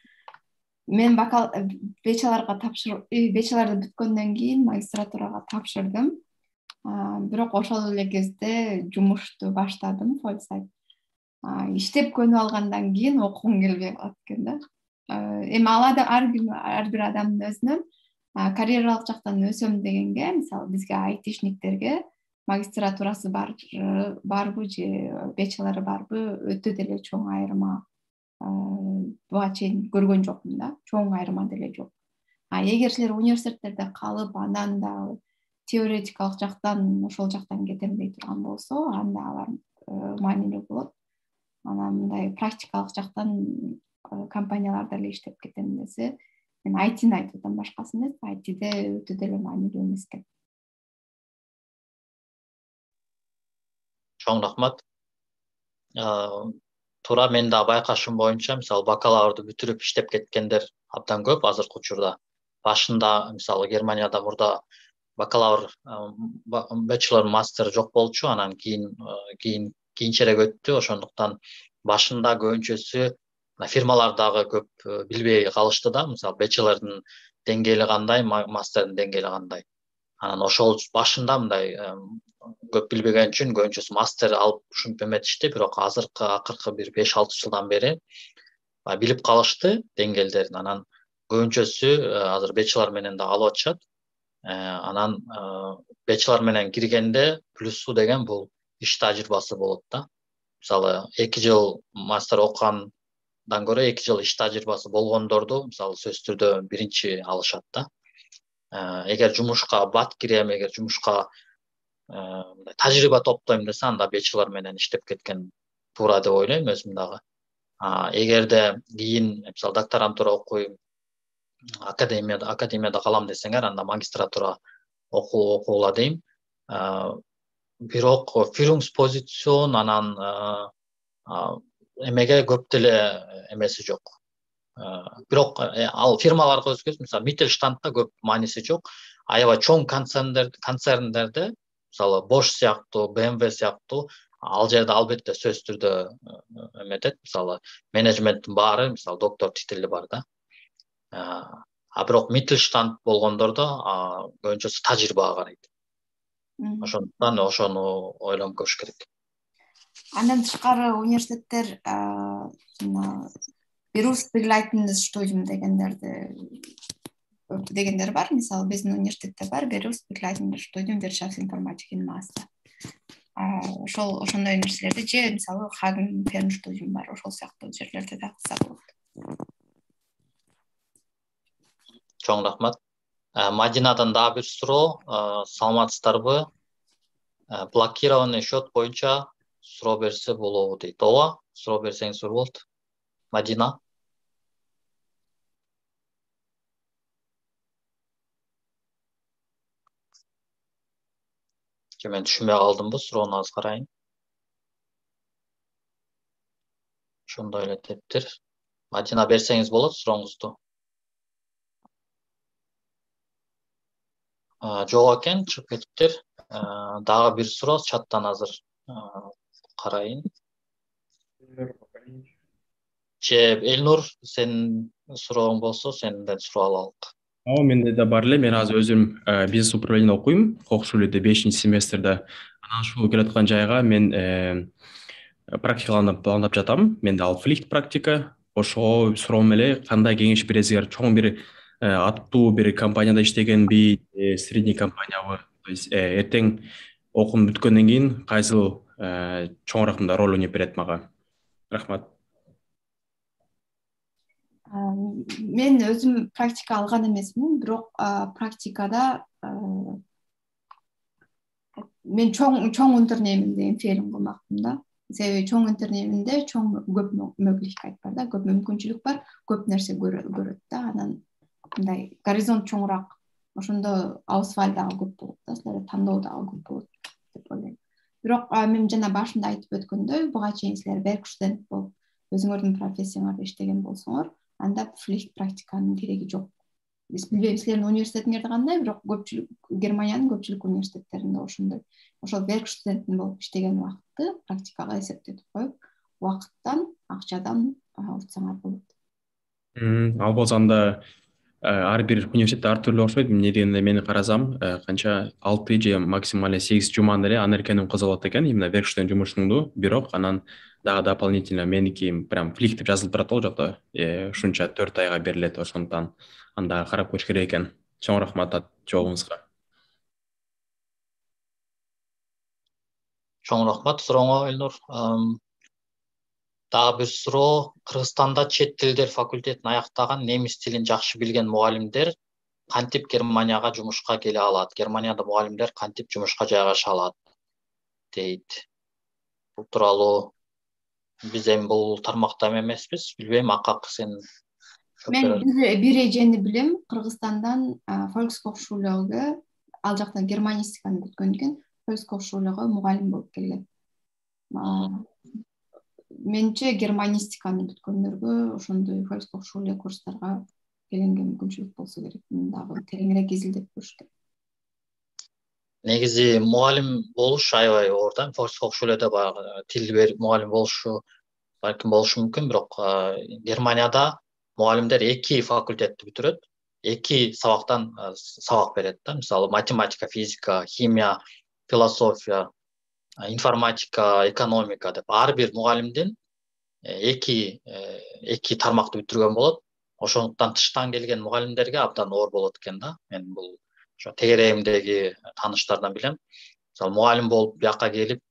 мен бачелорго тапшыр бачелорду бүткөндөн кийин магистратурага тапшырдым. Бирок ошол эле кезде жумушту баштадым, фольсайт. Иштеп көнүп алгандан кийин окугум келбей калат экен да. Эми алады ар бир адамдын өзүнөн карьералык жактан өсөм дегенге, мисалы бизге айтишниктерге магистратурасы бар барбы же бачелору барбы өтө деле чоң айырма буга чейин көргөн жокмун да. Чоң айырма деле жок. А эгер силер университеттерде калып, андан да теоретикалык жактан ошол жактан кетем дей турган болсо, анда алар маанилүү болот. Анан мындай практикалык жактан компанияларда эле иштеп кетем десе, мен ай тини айтып атам, башкасын эмес, ай тиде өтө деле маанилүү эмес экен. Чоң рахмат. Туура, мен да байкашым боюнча, мисалы бакалаврды бүтүрүп иштеп кеткендер абдан көп азыркы учурда. Башында мисалы Германияда мурда бакалавр, бачелор, мастер жок болчу, анан кийин кийин кийинчерээк өттү. Ошондуктан башында көбүнчөсү фирмалардагы көп билбей калышты да, мисалы бачелордун деңгээли кандай, мастердин деңгээли кандай. Анан ошол башында мындай көп билбеген үчүн көбүнчөсү мастер алып ушинтип эметишти, бирок азыркы акыркы бир беш алты жылдан бери билип калышты деңгээлдерин. Анан көбүнчөсү азыр бачелор менен да алып атышат. Анан бачелор менен киргенде плюсу деген бул иш тажрыйбасы болот да. Мисалы эки жыл мастер окугандан көрө эки жыл иш тажрыйбасы болгондорду мисалы сөзсүз түрдө биринчи алышат да. Эгер жумушка бат кирем, эгер жумушка мындай тажрыйба топтойм десе, анда бечелор менен иштеп кеткен туура деп ойлойм өзүм дагы. Эгерде кийин мисалы докторантура окуйм, академияда академияда калам десеңер, анда магистратура окуу окугула дейм. Бирок führungspozицион анан эмеге көп деле эмеси жок. Бирок ал фирмаларга өзгөчө, мисалы Mittelstandта көп мааниси жок. Аябай чоң концерндерде, концерндерде, мисалы Bosch сыяктуу, бэ эм вэ сыяктуу, ал жерде албетте сөзсүз түрдө эметет. Мисалы менеджменттин баары, мисалы доктор титили бар да. А бирок Mittelstand болгондордо көбүнчөсү тажрыйбага карайт. Ошондуктан ошону ойлонуп көрүш керек. Андан тышкары университеттер berufsbegleitendes Studium дегендерди дегендер бар. Мисалы биздин университетте бар berufsbegleitendes Studium Wirtschaftsinformatik in Master. Ошол ошондой нерселерди же мисалы Hagen Fernstudium бар, ошол сыяктуу жерлерде да кылса болот. Чоң рахмат. Мадинадан дагы бир суроо. Саламатсыздарбы? Блокированный счет боюнча суроо берсе болобу дейт. Ооба, суроо берсеңиз болот. Мадина. Же мен түшүнбөй калдымбы, суроону аз карайын. Ошондой эле тептир. Мадина, берсеңиз болот сурооңузду. Жок экен, чыгып кетиптир. Дагы бир суроо чаттан азыр карайын. Че Элнур, сенин сурооң болсо, сенден суроо алалык. Ооба, менде да бар эле. Мен азыр өзүм бизнес управление окуйм, Кокшулуде бешинчи семестрде. Анан ушул келаткан жайга мен практикаланып пландап жатам. Менде ал флихт практика. Ошого суроом эле, кандай кеңеш бересиңер? Чоң бир аттуу бир компанияда иштегенби, средний компаниябы? То есть эртең окуум бүткөндөн кийин кайсыл чоңураак мындай роль ойноп берет мага? Рахмат. Мен өзүм практика алган эмесмин, бирок практикада мен чоң чоң интернеминде ферим кылмакмын да. Себеби чоң интернеминде чоң көп möglichkeit бар да, көп мүмкүнчүлүк бар, көп нерсе көрөт да. Анан мындай горизонт чоңураак, ошондо аусваль дагы көп болот да, силерде тандоо дагы көп болот деп ойлойм. Бирок мен жана башында айтып өткөндөй, буга чейин силер Werkstudent болуп, өзүңөрдүн профессияңарда иштеген болсоңор, анда флихт практиканын кереги жок. Биз билбейм силердин университетиңерде кандай, бирок көпчүлүк Германиянын көпчүлүк университеттеринде ошондой. Ошол Werkstudent болуп иштеген убакытты практикага эсептетип коюп, убакыттан, акчадан утсаңар болот. Ал болсо анда ар бир университетте ар түрлүү окшойт. Эмне дегенде мени карасам, канча алты же максималь сегиз жуманы эле анеркеним кызыгып атат экен, именно Werkstudent жумушуңду. Бирок анан дагы дополнительно меники прям флихт деп жазылып турат ал жакта. Ушунча төрт айга берилет, ошондуктан анда карап көрүш керек экен. Чоң рахмат жообуңузга. Чоң рахмат сурооңо, Элнур. Дагы бир суроо. Кыргызстанда чет тилдер факультетин аяктаган, немис тилин жакшы билген мугалимдер кантип Германияга жумушка келе алат? Германияда мугалимдер кантип жумушка жайгаша алат? Дейт. Бул тууралуу биз эми бул тармакта эмеспиз, билбейм, Акак сен. Мен бир эжени билем, Кыргызстандан Volkshochschule, ал жактан германистиканы бүткөндөн кийин Volkshochschule мугалим болуп келген. Менче германистиканы бүткөндөргө ошондой Volkshochschule курстарга келенге мүмкүнчүлүк болсо керек. Дагы тереңирээк изилдеп көрүш керек. Негизи мугалим болуш аябай оор да. Volkshochschuleде баягы тил берип мугалим болушу балким болушу мүмкүн, бирок Германияда мугалимдер эки факультетти бүтүрөт, эки сабактан сабак берет да. Мисалы математика, физика, химия, философия, информатика, экономика деп ар бир мугалимдин эки эки тармакты бүтүргөн болот. Ошондуктан тыштан келген мугалимдерге абдан оор болот экен да. Мен бул ошо тегерегимдеги тааныштардан билем. Мисалы мугалим болуп бияка келип,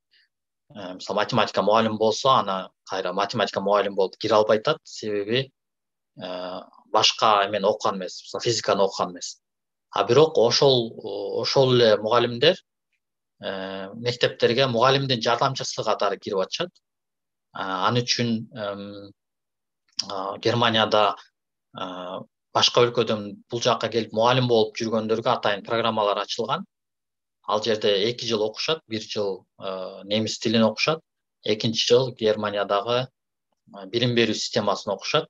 мисалы математика мугалим болсо, ана кайра математика мугалим болуп кире албай атат, себеби башка эмени окуган эмес, физиканы окуган эмес. А бирок ошол ошол эле мугалимдер мектептерге мугалимдин жардамчысы катары кирип атышат. Ал үчүн Германияда башка өлкөдөн бул жакка келип мугалим болуп жүргөндөргө атайын программалар ачылган. Ал жерде эки жыл окушат, бир жыл немис тилин окушат, экинчи жыл Германиядагы билим берүү системасын окушат.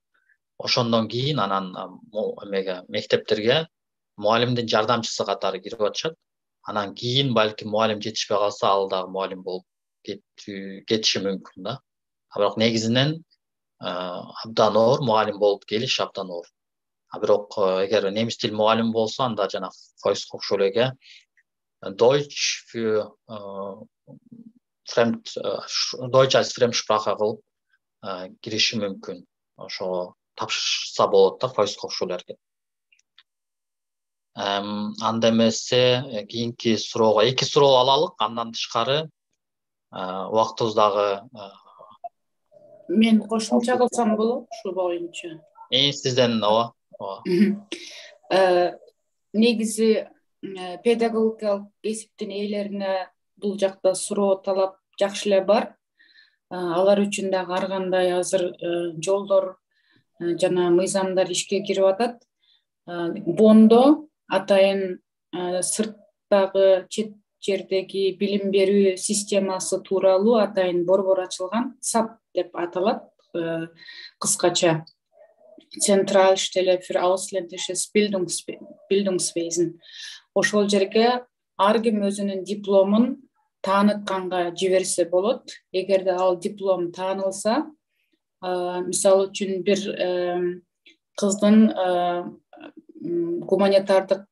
Ошондон кийин анан эмеге мектептерге мугалимдин жардамчысы катары кирип атышат. Анан кийин балким мугалим жетишпей калса, ал дагы мугалим болуп кетиши мүмкүн да. Бирок негизинен абдан оор мугалим болуп келиш абдан оор. А бирок эгер немис тил мугалими болсо, анда жана Volkshochschule Deutsch für Fremd Deutsch als Fremdsprache кылып кириши мүмкүн. Ошо тапшырса болот да Volkshochschuleге. Анда эмесе кийинки суроого эки суроо алалык, андан тышкары убактыбыз дагы. Мен кошумча кылсам болот ушу боюнча. И сизден ооба. Негизи педагогикалык кесиптин ээлерине бул жакта суроо талап жакшы эле бар. Алар үчүн дагы ар кандай азыр жолдор жана мыйзамдар ишке кирип атат. Бондо атайын сырттагы чет жердеги билим берүү системасы тууралуу атайын борбор ачылган, сап деп аталат кыскача. Zentralstelle für ausländisches Bildungswesen. Ошол жерге ар ким өзүнүн дипломун таанытканга жиберсе болот. Эгерде ал диплом таанылса, мисалы үчүн бир кыздын гуманитардык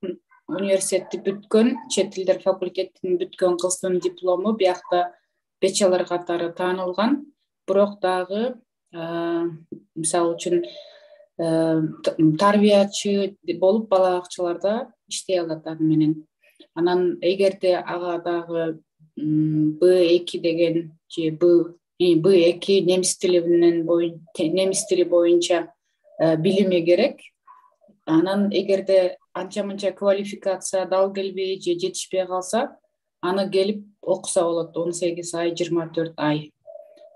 университетти бүткөн, чет тилдер факультетин бүткөн кыздын диплому биякта бачелор катары таанылган. Бирок дагы мисалы үчүн тарбиячы болуп бала бакчаларда иштей алат аны менен. Анан эгерде ага дагы бэ эки деген же бэ эки немис тили менен немис тили боюнча билими керек. Анан эгерде анча-мынча квалификация дал келбей же жетишпей калса, аны келип окуса болот он сегиз ай, жыйырма төрт ай.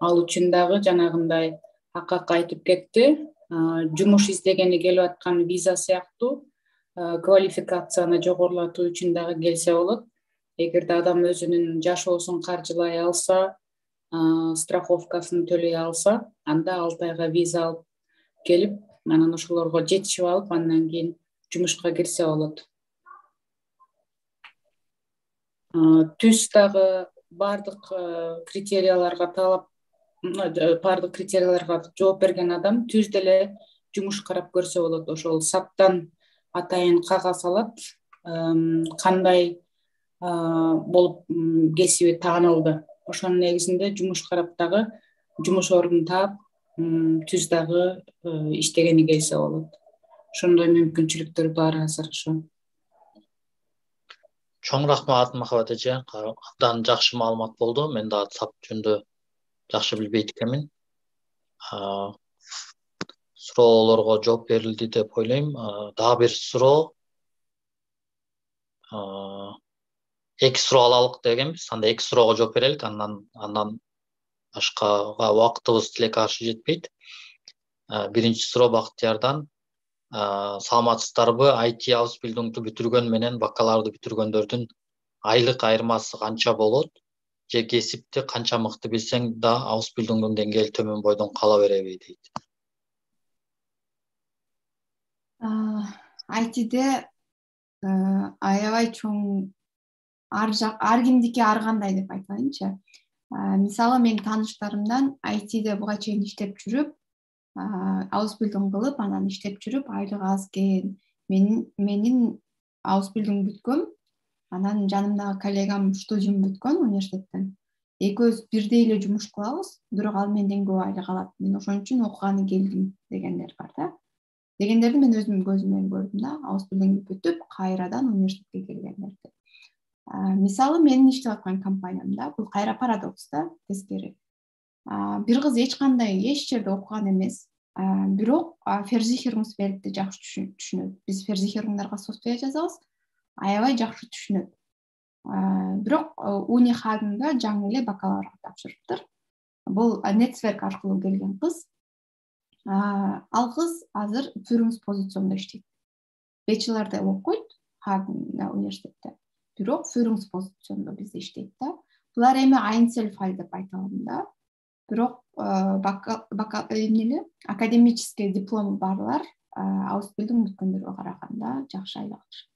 Ал үчүн дагы жанагындай акак айтып кетти. Жумуш издегени келип аткан виза сыяктуу квалификацияны жогорулатуу үчүн дагы келсе болот. Эгерде адам өзүнүн жашоосун каржылай алса, страховкасын төлөй алса, анда алты айга виза алып келип, анан ошолорго жетишип алып, андан кийин жумушка кирсе болот. Түз дагы бардык критерияларга талап бардык критерияларга жооп берген адам түз деле жумуш карап көрсө болот. Ошол саптан атайын кагаз алат, кандай болуп кесиби таанылды. Ошонун негизинде жумуш карап дагы жумуш ордун таап, түз дагы иштегени келсе болот. Ошондой мүмкүнчүлүктөр бар азыр ошо. Чоң рахмат Махабат эже, абдан жакшы маалымат болду. Мен дагы сап жөнүндө жакшы билбейт экенмин. Суроолорго жооп берилди деп ойлойм. Дагы бир суроо. Эки суроо алалык дегенбиз. Анда эки суроого жооп берелик, андан андан башкага убактыбыз тилекке каршы жетпейт. Биринчи суроо Бактиярдан. Саламатсыздарбы? ай ти Ausbildung'ду бүтүргөн менен бакалаврды бүтүргөндөрдүн айлык айырмасы канча болот? Же кесипти канча мыкты билсең да Ausbildung'дун деңгээли төмөн бойдон кала береби дейт. ай тиде аябай чоң ар жак ар кимдики ар кандай деп айтайынчы. Мисалы мен тааныштарымдан ай тиде буга чейин иштеп жүрүп, Ausbildung кылып, анан иштеп жүрүп, айлык аз экен. Менин менин Ausbildung бүткөм. Анан жанымдагы коллегам студиум бүткөн университеттен. Экөөбүз бирдей эле жумуш кылабыз, бирок ал менден көп айлык алат. Мен ошон үчүн окуганы келдим дегендер бар да. Дегендерди мен өзүм көзүм менен көрдүм да, Ausbildung бүтүп, кайрадан университетке келгендерди. Мисалы менин иштеп аткан компаниямда бул кайра парадокс да, тескери. Бир кыз эч кандай эч жерде окуган эмес, бирок Versicherungsweltти жакшы түшүнөт. Биз Versicherungsдарга софтвер жазабыз, аябай жакшы түшүнөт. бирок уни хагында жаңы эле бакалаврга тапшырыптыр. Бул нетсверк аркылуу келген кыз. Ал кыз азыр Фюрунс позициондо иштейт. Бечелорда окуйт Хагн университетте. Бирок Фюрунс позициондо бизде иштейт да. Булар эми Айнцельфаль деп айта алам да. Бирок эмнеле академический диплому барлар Аусбилдин бүткөндөргө караганда жакшы айлык алышат.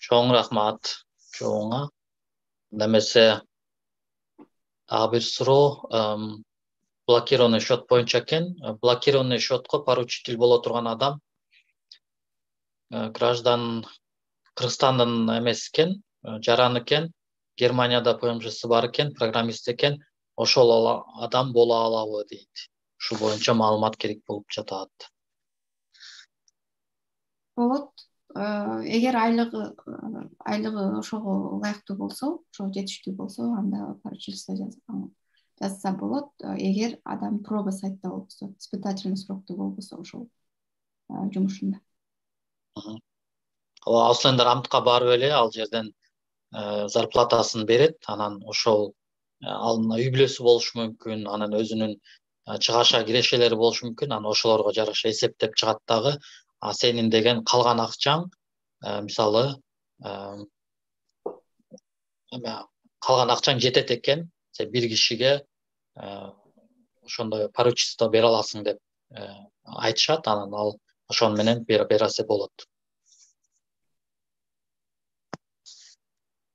Чоң рахмат чоңа. Немесе дагы бир суроо, блокированный счет боюнча экен. Блокированный счетко поручитель боло турган адам граждан Кыргызстандын эмес экен, жаран экен, Германияда ПМЖсы бар экен, программист экен. Ошол адам боло алабы дейт. Ушул боюнча маалымат керек болуп жатат. Болот. Эгер айлыгы айлыгы ошого ылайыктуу болсо, ошо жетиштүү болсо, анда поручительство жазса болот. Эгер адам проба сайтта болбосо, испытательный срокто болбосо ошол жумушунда. Ауслендер амтка барып эле ал жерден зарплатасын берет, анан ошол ал үй бүлөсү болушу мүмкүн, анан өзүнүн чыгаша кирешелери болушу мүмкүн, анан ошолорго жараша эсептеп чыгат дагы. А сенин деген калган акчаң, мисалы, калган акчаң жетет экен, сен бир кишиге ошондой поручительство бере аласың деп айтышат, анан ал ошон менен берсе болот.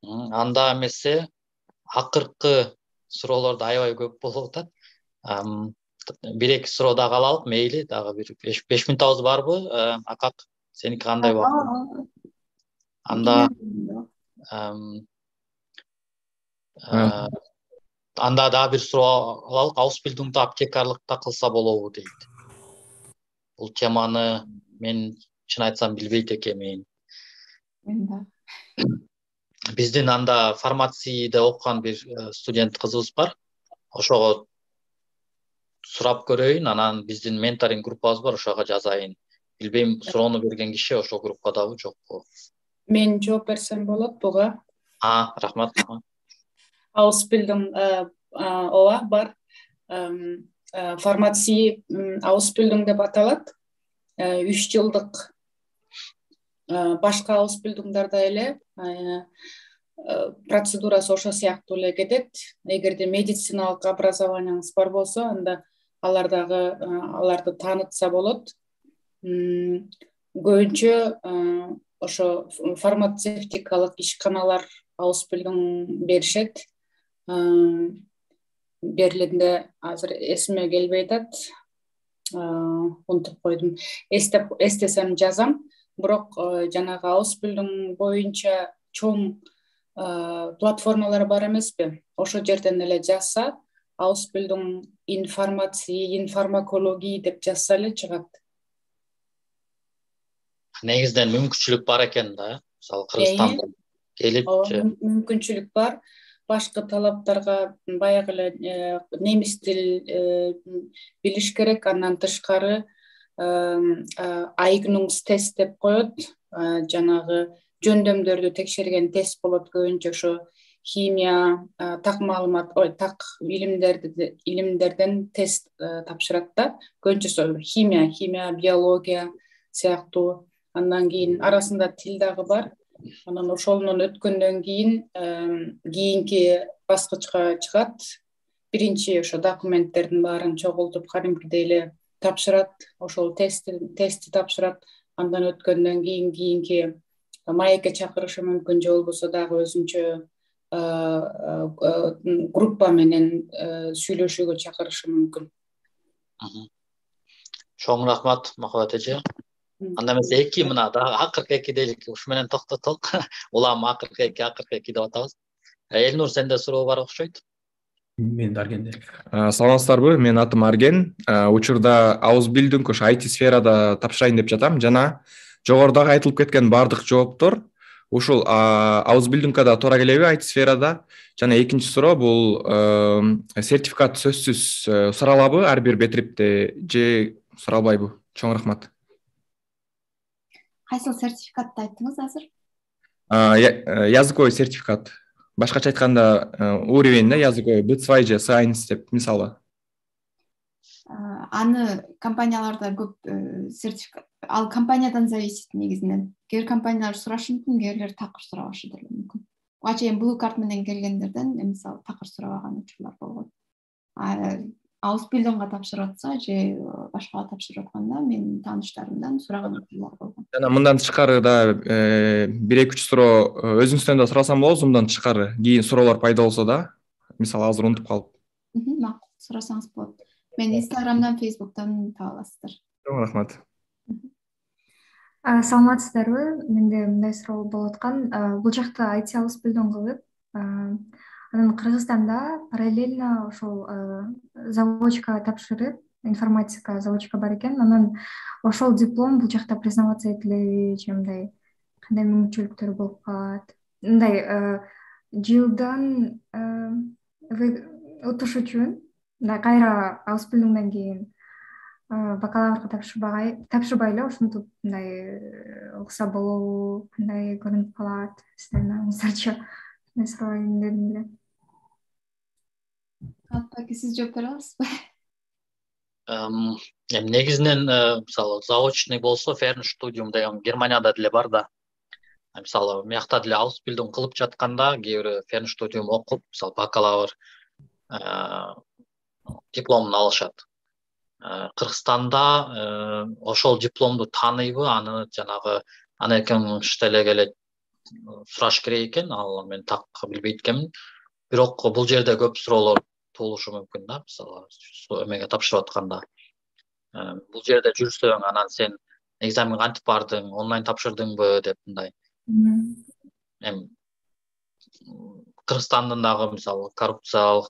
Анда эмесе акыркы суроолорду аябай көп болуп атат. Бир-эки суроо дагы алалык, мейли, дагы бир беш мүнөтүбүз барбы? Акак, сеники кандай убакыт? Анда анда дагы бир суроо алалык. Аусбилдингди аптекарлыкта кылса болобу дейт. Бул теманы мен чын айтсам билбейт экенмин. Биздин анда фармацияда окуган бир студент кызыбыз бар. Ошого сурап көрөйүн, анан биздин менторинг группабыз бар, ошого жазайын. Билбейм, суроону берген киши ошол группадабы, жокпу? Мен жооп берсем болот буга. А, рахмат. Аусбилдинг ооба бар. Фармация Аусбилдинг деп аталат. үч жылдык башка Аусбилдингдарда эле процедурасы ошо сыяктуу эле кетет. Эгерде медициналык образованияңыз бар болсо, анда алардагы аларды таанытса болот. Көбүнчө ошо фармацевтикалык ишканалар Аусбилдинг беришет. Берлинде азыр эсиме келбей атат. Унутуп койдум. Эстеп эстесем жазам. Бирок жанагы Аусбилдинг боюнча чоң платформалар бар эмеспи? Ошол жерден эле жазса, Аусбилдинг информация, информакология деп жазса эле чыгат. Негизден мүмкүнчүлүк бар экен да, мисалы Кыргызстанда келип. Мүмкүнчүлүк бар. Башкы талаптарга баягы эле немис тил билиш керек, андан тышкары Eignungstest деп коет. Жанагы жөндөмдөрдү текшерген тест болот. Көбүнчө ошо химия, так маалымат, ой, так илимдерди илимдерден тест тапшырат да. Көбүнчөсү химия, химия, биология сыяктуу. Андан кийин арасында тил дагы бар. Анан ошонун өткөндөн кийин кийинки баскычка чыгат. Биринчи ошо документтердин баарын чогултуп, кадимкидей эле тапшырат. Ошол тестти тестти тапшырат. Андан өткөндөн кийин кийинки маекке чакырышы мүмкүн, же болбосо дагы өзүнчө группа менен сүйлөшүүгө чакырышы мүмкүн. Чоң рахмат, Махабат эже. Анда эмес эки мына дагы акыркы эки дейлик, ушу менен токтотолук. Улам акыркы эки, акыркы эки деп атабыз. Элнур, сенде суроо бар окшойт. Мен Арген. Саламатсыздарбы? Мен атым Арген. Учурда Аусбилдинг ошо ай ти сферада тапшырайын деп жатам. Жана жогорудагы айтылып кеткен бардык жооптор ушул Аусбилдингга да туура келеби ай ти сферада? Жана экинчи суроо бул сертификат сөзсүз суралабы ар бир бетрипте же суралбайбы? Чоң рахмат. кайсыл сертификатты айттыңыз азыр? Языковой сертификат. Башкача айтканда уровень да языковой би два же си один деп мисалы. Аны компанияларда көп сертификат, ал компаниядан зависит негизинен. Кээ бир компаниялар сурашы мүмкүн, кээ бирлер такыр сурабашы деле мүмкүн. Буга чейин Blue Card менен келгендерден мисалы такыр сурабаган учурлар болгон. Ауспилдонго тапшырып атса же башкага тапшырып атканда менин тааныштарымдан сураган учурлар болгон. Жана мындан тышкары да бир эки үч суроо өзүңүздөн да сурасам болобу, мындан тышкары кийин суроолор пайда болсо да, мисалы азыр унутуп калып. Макул, сурасаңыз болот. Мен Инстаграмдан, Фейсбуктан таба аласыздар. Чоң рахмат. Саламатсыздарбы? Менде мындай суроо болуп аткан. Бул жакта ай ти Ауспилдон кылып, анан Кыргызстанда параллельно ошол заводчика тапшырып, информатика заводчика бар экен. Анан ошол диплом бул жакта признаваться этилеби, же мындай кандай мүмкүнчүлүктөр болуп калат? Мындай жылдан утуш үчүн мындай кайра Ауспилдондон кийин бакалаврга тапшырбай тапшырбай эле ушинтип мындай укса болобу, кандай көрүнүп калат? Сиздердин оюңуздарчы? Мен сурайын дедим эле. Атпаки, сиз жооп бере аласызбы? Эми негизинен мисалы заочный болсо Fernstudium деген Германияда деле бар да. Мисалы мыякта деле Ауспилдон кылып жатканда кээ бир Fernstudium окуп, мисалы бакалавр дипломун алышат. Кыргызстанда ошол дипломду тааныйбы, аны жанагы аны эркин штелеге эле сураш керек экен, ал мен так билбейт экенмин. Бирок бул жерде көп суроолор туулушу мүмкүн да, мисалы эмеге тапшырып атканда. Бул жерде жүрсөң, анан сен экзаменге кантип бардың, онлайн тапшырдыңбы деп мындай. Эми Кыргызстандын дагы мисалы коррупциялык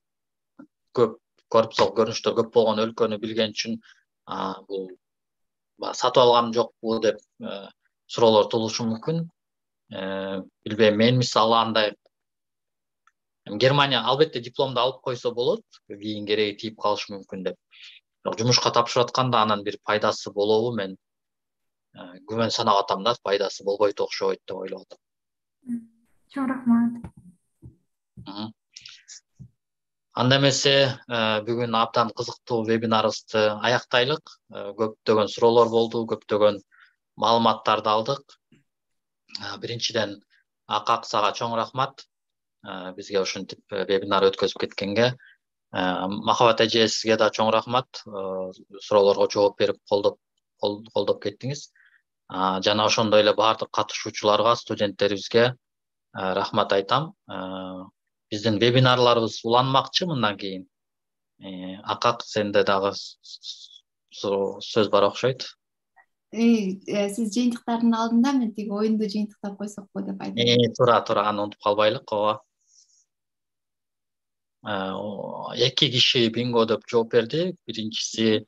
көп коррупциялык көрүнүштөр көп болгон өлкөнү билген үчүн бул сатып алган жокпу деп суроолор туулушу мүмкүн. Билбейм, мен мисалы андай Германия албетте дипломду алып койсо болот, кийин кереги тийип калышы мүмкүн деп. Бирок жумушка тапшырып атканда анан бир пайдасы болобу, мен күмөн санап атам да, пайдасы болбойт окшойт деп ойлоп атам. Чоң рахмат. Анда эмесе бүгүн абдан кызыктуу вебинарыбызды аяктайлык. Көптөгөн суроолор болду, көптөгөн маалыматтарды алдык. Биринчиден Акаксага чоң рахмат. Бизге ушинтип вебинар өткөзүп кеткенге. Махабат эже, сизге да чоң рахмат. Суроолорго жооп берип колдоп колдоп кеттиңиз. Жана ошондой эле баардык катышуучуларга, студенттерибизге рахмат айтам. Биздин вебинарларыбыз уланмакчы мындан кийин. Акак, сенде дагы сөз бар окшойт. Сиз жыйынтыктардын алдында мен тиги оюнду жыйынтыктап койсокпу деп айтам. Туура, туура, аны унутуп калбайлык. Ооба. Эки киши бинго деп жооп берди. Биринчиси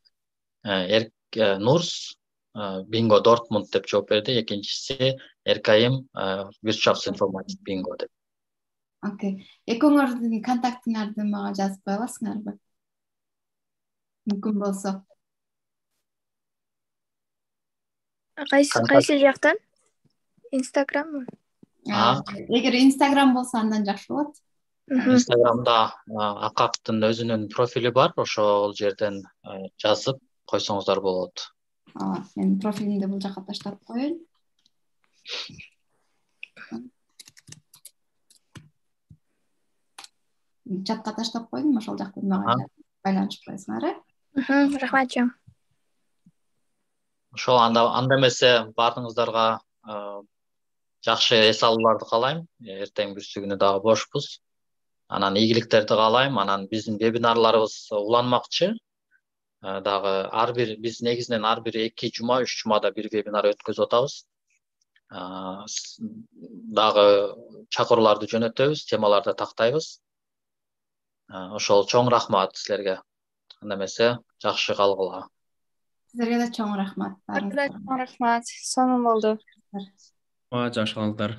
Нурс бинго Дортмунд деп жооп берди. Экинчиси Эркайым Wirtschafts Informatik бинго деп. Окей. Экөөңөрдүн контактыңарды мага жазып кое аласыңарбы? Мүмкүн болсо. Кайсы кайсы жактан? Инстаграмбы? Эгер Инстаграм болсо андан жакшы болот. Инстаграмда Акактын өзүнүн профили бар, ошол жерден жазып койсоңуздар болот. Мен профилимди бул жака таштап коеюн. Чатка таштап койдум, ошол жактан мага байланышып коесуңар, э? Рахмат чоң. Ошол анда анда эмесе баардыгыңыздарга жакшы эс алууларды каалайм. Эртең бүрсү дагы бошпуз. Анан ийгиликтерди каалайм. Анан биздин вебинарларыбыз уланмакчы. Дагы ар бир биз негизинен ар бир эки жума, үч жумада бир вебинар өткөзүп атабыз. Дагы чакырууларды жөнөтөбүз, темаларды тактайбыз. Ошол чоң рахмат силерге. Анда эмесе жакшы калгыла. Сиздерге да чоң рахмат. Чоң рахмат. Сонун болду. Жакшы калыңыздар.